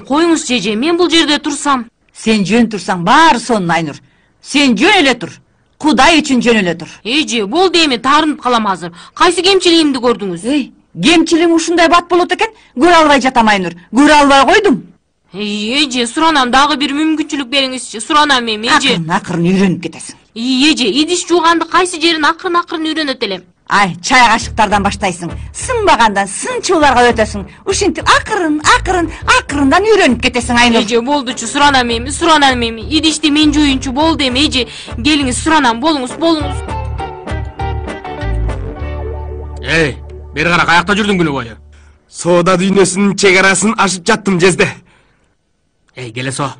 S3: Коюңуз эже, мен бул жерде турсам.
S1: Сен жөн турсаң баары сонун Айнур. Сен жөн эле тур. Кудай үчүн жөн эле тур.
S3: Эже, болду эми таарынып калам азыр. Кайсы кемчилигимди көрдүңүз?
S1: Кемчилигиң ушундай бат болот экен, көрө албай жатам Айнур. Көрө албай койдум.
S3: Эже, суранам, дагы бир мүмкүнчүлүк бериңизчи. Суранам эми, эже.
S1: Акырын үйрөнүп кетесиң.
S3: Эже, идиш жууганды кайсы жерин акырын үйрөнөт элем.
S1: Ай, чай кашыктардан баштайсың. Сынбагандан сынчууларга өтөсүң. Ушинтип акырындан үйрөнүп кетесиң Айнур.
S3: Эже, болдучу, суранам эми. Идишти мен жуюнчу болду эми, эже. Келиңиз, суранам, болуңуз.
S5: Бери кара, каякта жүрдүң күнү бою?
S7: Соода дүйнөсүнүн чек арасын ашып жаттым жезде.
S5: Келе со.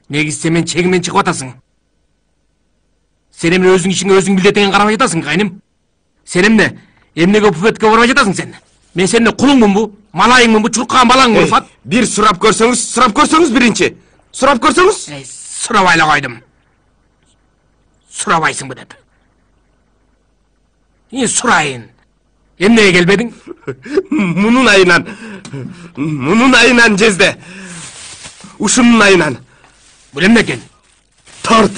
S5: Негизи сен мен чегимен чыгып атасың. Сен эмне өзүң ишиңе өзүң билдетеген карабай жатасың, кайным? Сен эмнеге буфетке барбай жатасың сен? Мен сенин кулуңмунбу, малайыңмынбу, чуркаган балаңмынбу, Фат?
S7: Бир сурап көрсөңүз биринчи. Сурап көрсөңүз?
S5: Сурабай эле койдум. Сурабайсыңбы деп. Сурайын. Эмнеге келбедиң?
S7: Мунун айынан жезде. Ушунун айынан.
S5: Бул эмне экен?
S7: Торт.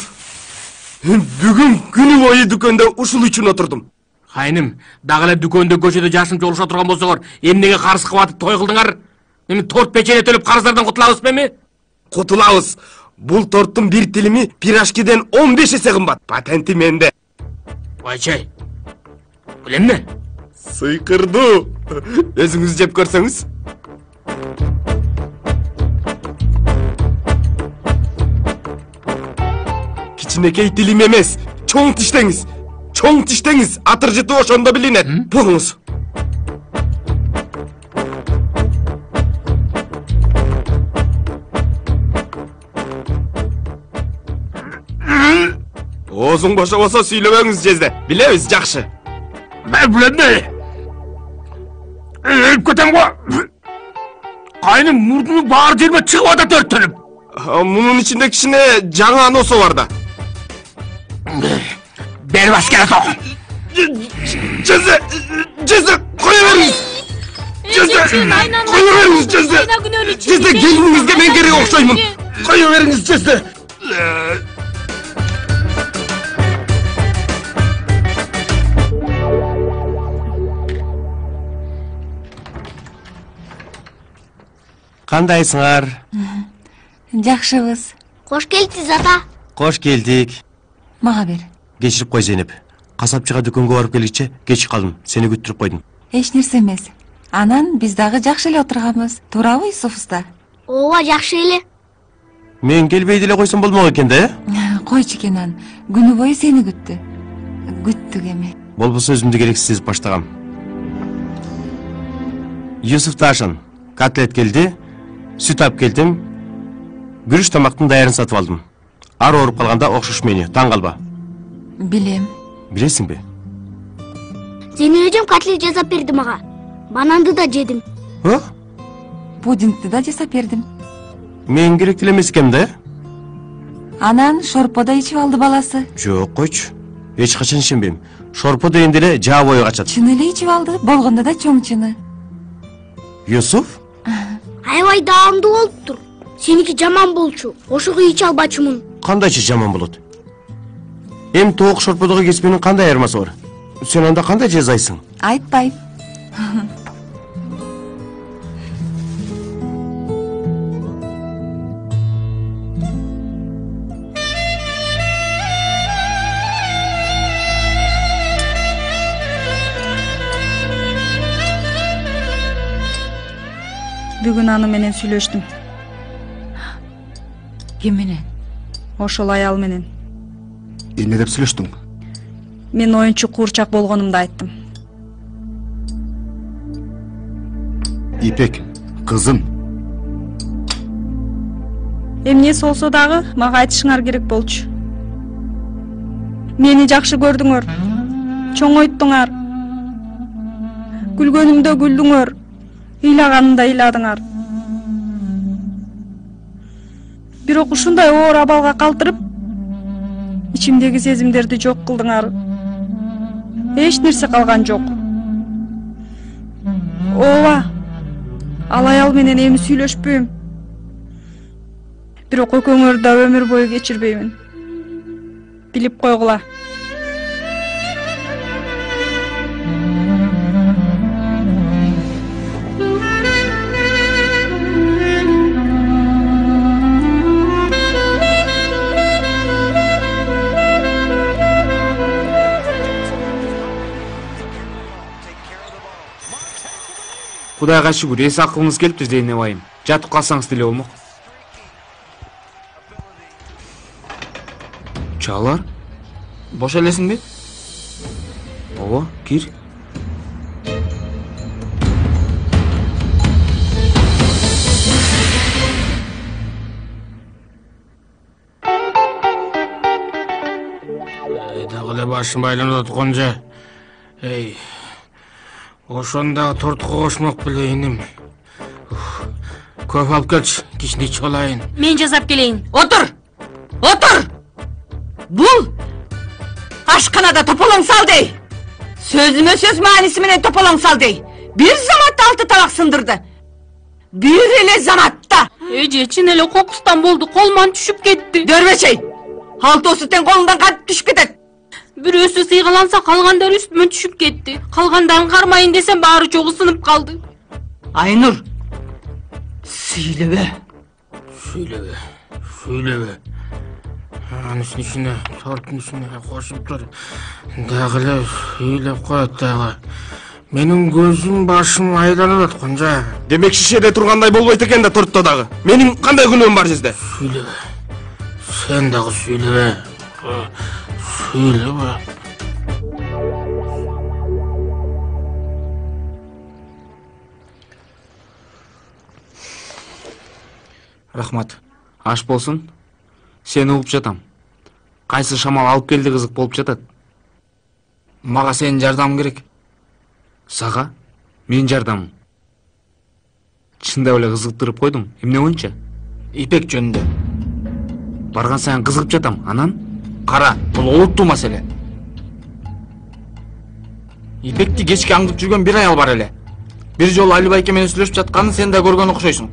S7: Бүгүн күнү бою дүкөндө ушул үчүн отурдум.
S5: Кайным, дагы эле дүкөндө көчөдө жашынча олуша турган болсоңор, эмнеге карыз кылып атып той кылдыңар? Эми торт печене төлөп карыздардан кутулабызбы эми?
S7: Кутулабыз. Бул торттун бир тилими пирожкиден 15 эсе кымбат. Патенти менде.
S5: Ойчай. Бул эмне?
S7: Сыйкырдуу. Өзүңүз жеп көрсөңүз. Кичинекей тилим эмес, чоң тиштеңиз. Атыр жыты ошондо билинет. Болуңуз. Оозуң бошобосо сүйлөбөңүз жезде. Билебиз жакшы.
S5: Бул эмне? Өлүп кетем го. Кайным, мурдунун баары жериме чыгып атат өрттөнүп.
S7: Мунун ичинде кичине жаңы носо бар да.
S5: Берип аскер ток.
S7: Жезе, кое бериңиз. Кое бериңиз, Жезе, келиниңизге мен керек окшоймун. Кое бериңиз, Жезе.
S2: Кандайсыңар?
S12: Жакшыбыз. Кош келдиңиз, ата.
S2: Кош келдик.
S13: Мага бер.
S2: Кечирип кой, Зейнеп. Касапчыга дүкөнгө барып келгиче кеч калдым. Сени күттүрүп койдум.
S13: Эч нерсе эмес. Анан биз дагы жакшы эле отурганбыз. Туурабы, Юсуф уста?
S12: Ооба, жакшы эле.
S2: Мен келбей деле койсом болмок экен да,
S13: Койчу Кенан. Күнү бою сени күттү. Күттүк эми.
S2: Болбосо өзүмдү керексиз сезип баштагам. Юсуф Ташын, котлет келди, сүт алып келдим. Күрүч тамактын даярын сатып алдым. Ар ооруп калганда окшош мени, таң калба.
S13: Билем.
S2: Билесиңби?
S12: Зейнеп эжем котлет жасап берди мага. Бананды да жедим.
S13: Пудингди да жасап бердим.
S2: Мен керек деле эмес экенмин да.
S13: Анан шорпо да ичип алды баласы.
S2: Жок, койчу. Эч качан ишенбейм. Шорпо деген деле жаа бою качат.
S13: Чын эле ичип алды. Болгондо да чоң чыны.
S2: Юсуф?
S12: Аябай даамдуу болуптур. Сеники жаман болчу. Ошого иче албачумун.
S2: Кандайчы жаман болот? Эми тоок шорподогу кесменин кандай айырмасы бар? Сен анда кандай жазайсың?
S13: Айтпайм.
S4: Бүгүн аны менен сүйлөштүм.
S13: Ким менен?
S4: Ошол аял менен.
S16: Эмне деп сүйлөштүң?
S4: Мен оюнчу куурчак болгонумду айттым.
S16: Ипек, кызым.
S4: Эмнеси болсо дагы мага айтышыңар керек болчу. Мени жакшы көрдүңөр. Чоңойттуңар. Күлгөнүмдө күлдүңөр. Ыйлаганымда ыйладыңар. Бирок ушундай оор абалга калтырып, ичимдеги сезимдерди жок кылдыңар. Эч нерсе калган жок. Ооба. Ал аял менен эми сүйлөшпөйм. Бирок экөөңөрдү да өмүр бою кечирбеймин. Билип койгула.
S10: Кудайга шүгүр, эс акылыңыз келиптир, Зейнеп айым. Жатып калсаңыз деле болмок. Чалар?
S16: Бош элесиңби?
S10: Ооба, кир.
S5: Дагы эле башым байланып атканжа. Эй. Ошондагы тортко кошмок беле иним. Көп алып келчи, кичине ичип алайын.
S3: Мен жасап келейин.
S1: Отур! Отур! Бул ашканада тополоң сал дей. Сөзүмө сөз мааниси менен тополоң сал дей. Бир заматта 6 табак сындырды. Бир эле заматта.
S3: Эже, чын эле кокустан болду, колуман түшүп кетти.
S1: Дөрбечей. Алтоосу тең колуңдан кантип түшүп кетет?
S3: Бирөөсү сыйгаланса, калгандары үстүмө түшүп кетти. Калгандарын кармайын десем, баары чогуу сынып калды.
S1: Айнур, сүйлөбө.
S5: Сүйлөбө. Анын ичине, торттун ичине кошуп тур. Дагы эле сүйлөп коет дагы. Менин көзүм башым айланып аткан жа.
S7: Демек шишеде тургандай болбойт экен да тортто дагы. Менин кандай күнөөм бар Жезде?
S5: Сүйлөбө. Сен дагы сүйлөбө. Сүйлөбө.
S10: Рахмат. Аш болсун. Сени угуп жатам. Кайсы шамал алып келди кызык болуп жатат.
S16: Мага сенин жардамың керек.
S10: Сага? Менин жардамым. Чындап эле кызыктырып койдуң. Эмне боюнча?
S16: Ипек жөнүндө.
S10: Барган сайын кызыгып жатам. Анан
S16: Кара, бул олуттуу маселе. Ипекти кечке аңдып жүргөн бир аял бар эле. Бир жолу Али байке менен сүйлөшүп жатканын сен да көргөн окшойсуң.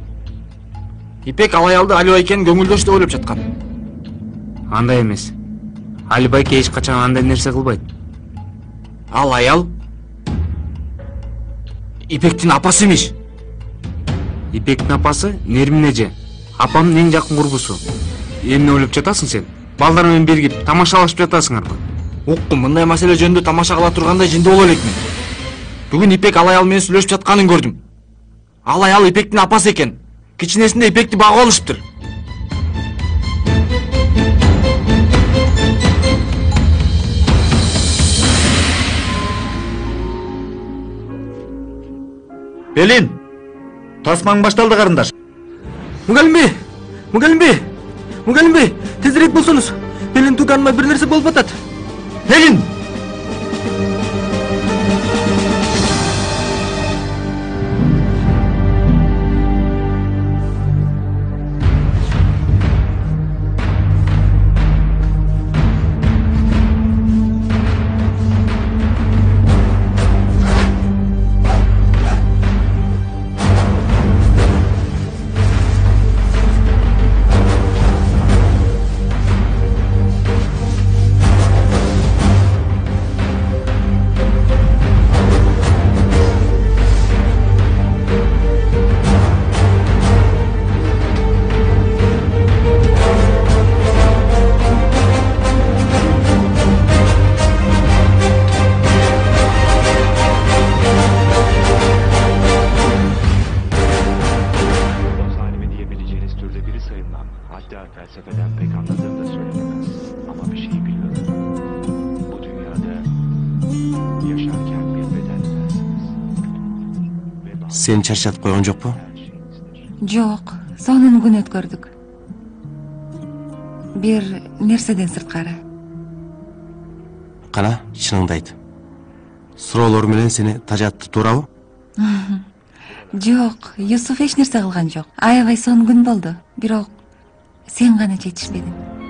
S16: Ипек ал аялды Али байкенин көңүлдөш деп ойлоп жаткан.
S10: андай эмес. Али байке эч качан андай нерсе кылбайт.
S16: Ал аял Ипектин апасы эмес.
S10: Ипектин апасы Нермин эже, апамдын эң жакын курбусу. Эмне ойлоп жатасың сен? Балдар менен биригип тамашалашып жатасыңарбы?
S16: Уккум, мындай маселе жөнүндө тамаша кыла тургандай жинде боло элекмин. Бүгүн Ипек ал аял менен сүйлөшүп жатканын көрдүм. Ал аял Ипектин апасы экен. Кичинесинде Ипекти багып алышыптыр.
S11: Белин, тасмаң башталды карындаш.
S18: Мугалим бей, тезирээк болсоңуз. Белин тууганыма бир нерсе болуп атат.
S11: Белин!
S2: Сени чарчатып койгон жокпу?
S15: Жок, сонун күн өткөрдүк. Бир нерседен сырткары.
S2: Кана, чыныңды айт. Суроолор менен сени тажатты, туурабы?
S15: Жок, Юсуф эч нерсе кылган жок. Аябай сонун күн болду. Бирок сен гана жетишпедиң.